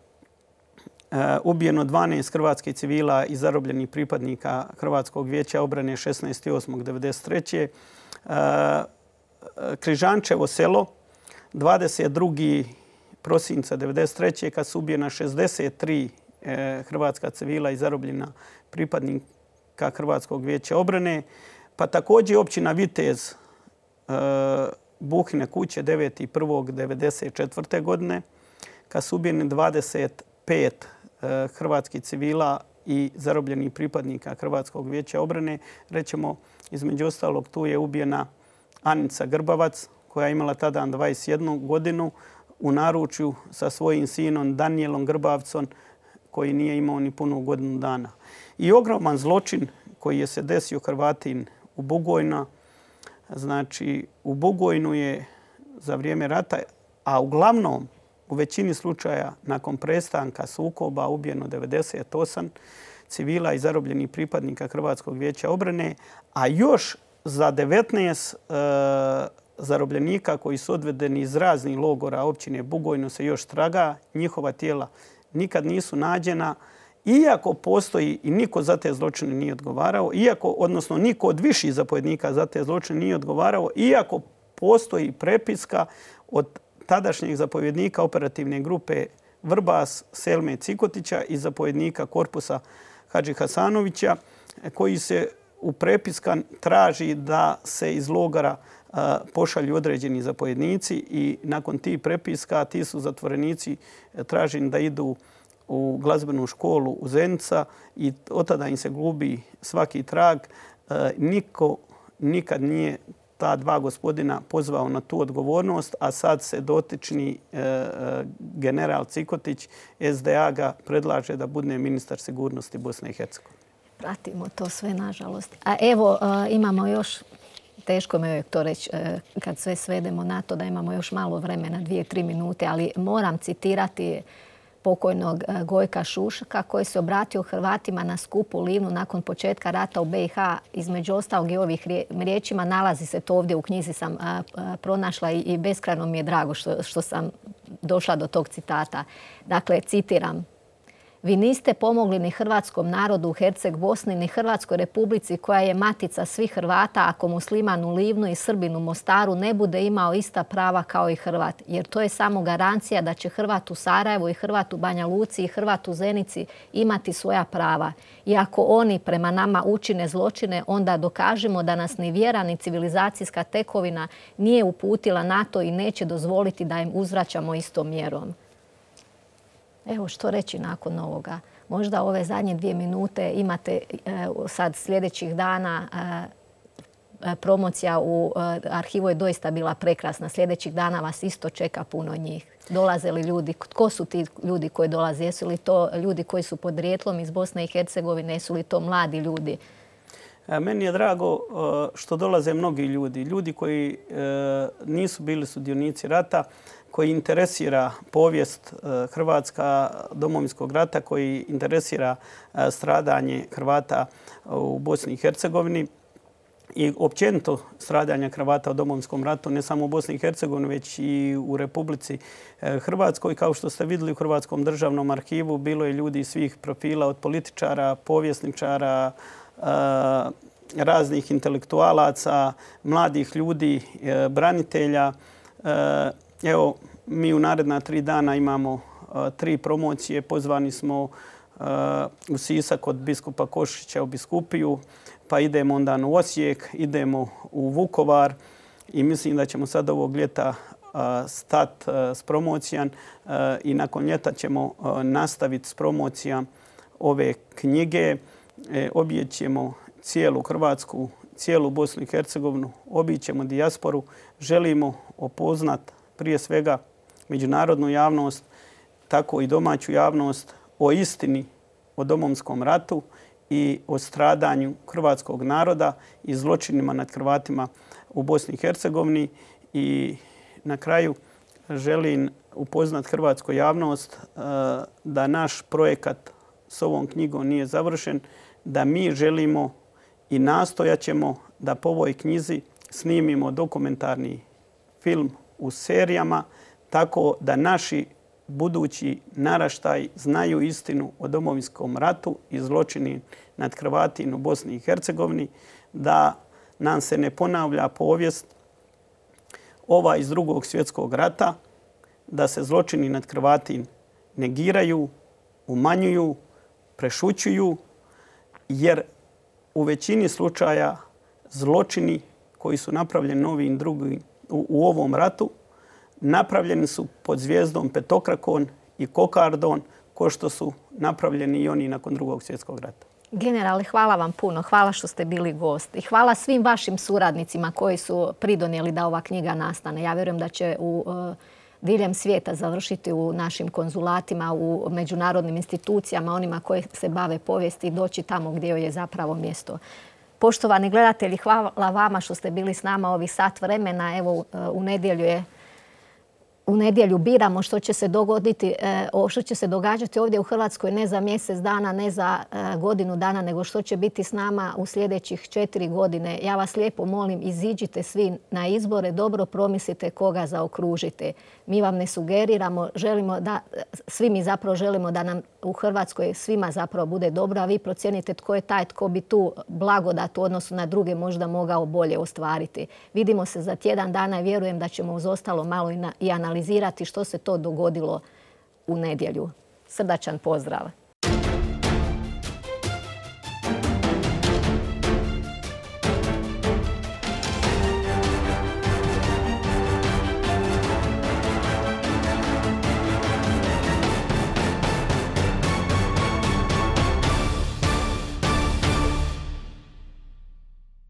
ubijeno dvanaest hrvatskih civila i zarobljenih pripadnika Hrvatskog vijeća obrane šesnaestog osmog devedeset treće Križančevo selo dvadeset drugog prosinca devedeset treće kad su ubijena šezdeset tri hrvatska civila i zarobljena pripadnika Hrvatskog vijeća obrane. Pa također općina Vitez, Buhine kuće deveti prvog devedeset četvrte godine kad su ubijeni dvadeset pet hrvatskih civila i zarobljenih pripadnika Hrvatskog vijeća obrane. Rećemo, između ostalog, tu je ubijena Anica Grbavac, koja je imala tada dvadeset jednu godinu u naručju sa svojim sinom Danijelom Grbavcom, koji nije imao ni punu godinu dana. I ogroman zločin koji je se desio Hrvatin u Bugojnu. Znači, u Bugojnu je za vrijeme rata, a uglavnom u većini slučaja nakon prestanka sukoba ubijeno devedeset osam civila i zarobljenih pripadnika Hrvatskog vijeća obrane, a još za devetnaest e, zarobljenika koji su odvedeni iz raznih logora općine Bugojno se još traga. Njihova tijela nikad nisu nađena, iako postoji i niko za te zločine nije odgovarao, iako, odnosno niko od viših zapovjednika za te zločine nije odgovarao, iako postoji prepiska od tadašnjeg zapovjednika operativne grupe Vrbas Selme Cikotića i zapovjednika korpusa Hadži Hasanovića, koji se u prepiska traži da se iz logora pošalju određeni zapovjednici i nakon tih prepiska ti su zatvorenici traženi da idu u glazbenu školu u Zenica i od tada im se gubi svaki trag. Niko nikad nije ta dva gospodina pozvao na tu odgovornost, a sad se dotični general Cikotić S D A ga predlaže da bude ministar sigurnosti Bosne i Hercegovine. Pratimo to sve, nažalost. A evo, imamo još, teško mi je to reći kad sve svedemo na to da imamo još malo vremena, dvije, tri minute, ali moram citirati pokojnog Gojka Šuška koji se obratio Hrvatima na skupu u Livnu nakon početka rata u B i H. Između ostalog i ovih riječima nalazi se to ovdje u knjizi, sam pronašla i beskrajno mi je drago što, što sam došla do tog citata. Dakle, citiram. Vi niste pomogli ni hrvatskom narodu u Herceg Bosni, ni Hrvatskoj republici koja je matica svih Hrvata ako musliman u Livnu i Srbin u Mostaru ne bude imao ista prava kao i Hrvat. Jer to je samo garancija da će Hrvat u Sarajevu i Hrvat u Banja Luci i Hrvat u Zenici imati svoja prava. I ako oni prema nama učine zločine, onda dokažemo da nas ni vjera ni civilizacijska tekovina nije uputila na to i neće dozvoliti da im uzvraćamo istom mjerom. Evo što reći nakon ovoga. Možda ove zadnje dvije minute imate sad sljedećih dana promocija u arhivu je doista bila prekrasna. Sljedećih dana vas isto čeka puno njih. Dolaze li ljudi? Tko su ti ljudi koji dolaze? Jesu li to ljudi koji su podrijetlom iz Bosne i Hercegovine? Jesu li to mladi ljudi? Meni je drago što dolaze mnogi ljudi. Ljudi koji nisu bili sudionici rata, koji interesira povijest Hrvatska domovinskog rata, koji interesira stradanje Hrvata u Bosni i Hercegovini i općenito stradanja Hrvata u domovinskom ratu, ne samo u Bosni i Hercegovini, već i u Republici Hrvatskoj. Kao što ste vidjeli u Hrvatskom državnom arhivu, bilo je ljudi svih profila, od političara, povjesničara, raznih intelektualaca, mladih ljudi, branitelja. Evo, mi u naredna tri dana imamo tri promocije. Pozvani smo u Sisak od biskupa Košića u biskupiju, pa idemo onda u Osijek, idemo u Vukovar i mislim da ćemo sad ovog ljeta stat s promocijom i nakon ljeta ćemo nastaviti s promocijom ove knjige. Obićemo cijelu Hrvatsku, cijelu Bosnu i Hercegovinu, obićemo dijasporu. Želimo upoznat prije svega međunarodnu javnost, tako i domaću javnost o istini o domovinskom ratu i o stradanju hrvatskog naroda i zločinima nad Hrvatima u Bosni i Hercegovini. I na kraju želim upoznat hrvatsku javnost da naš projekat s ovom knjigom nije završen, da mi želimo i nastojat ćemo da po ovoj knjizi snimimo dokumentarni film u serijama, tako da naši budući naraštaj znaju istinu o Domovinskom ratu i zločini nad Hrvatima u Bosni i Hercegovini, da nam se ne ponavlja povijest ova iz Drugog svjetskog rata, da se zločini nad Hrvatima negiraju, umanjuju, prešućuju, jer u većini slučaja zločini koji su napravljeni ovim drugim u, u ovom ratu napravljeni su pod zvijezdom petokrakon i kokardon, ko što su napravljeni i oni nakon Drugog svjetskog rata. Generale, hvala vam puno. Hvala što ste bili gost. I hvala svim vašim suradnicima koji su pridonijeli da ova knjiga nastane. Ja vjerujem da će u uh, diljem svijeta završiti u našim konzulatima, u međunarodnim institucijama, onima koji se bave povijesti i doći tamo gdje joj je zapravo mjesto. Poštovani gledatelji, hvala vama što ste bili s nama ovih sat vremena. Evo, uh, u nedjelju je U nedjelju biramo što će se dogoditi, što će se događati ovdje u Hrvatskoj ne za mjesec dana, ne za godinu dana, nego što će biti s nama u sljedećih četiri godine. Ja vas lijepo molim, iziđite svi na izbore, dobro promislite koga zaokružite. Mi vam ne sugeriramo, želimo da, svi mi zapravo želimo da nam u Hrvatskoj svima zapravo bude dobro, a vi procijenite tko je taj tko bi tu blagodat u odnosu na druge možda mogao bolje ostvariti. Vidimo se za tjedan dana i vjerujem da ćemo uz ostalo malo i, na, i analizirati što se to dogodilo u nedjelju. Srdačan pozdrav!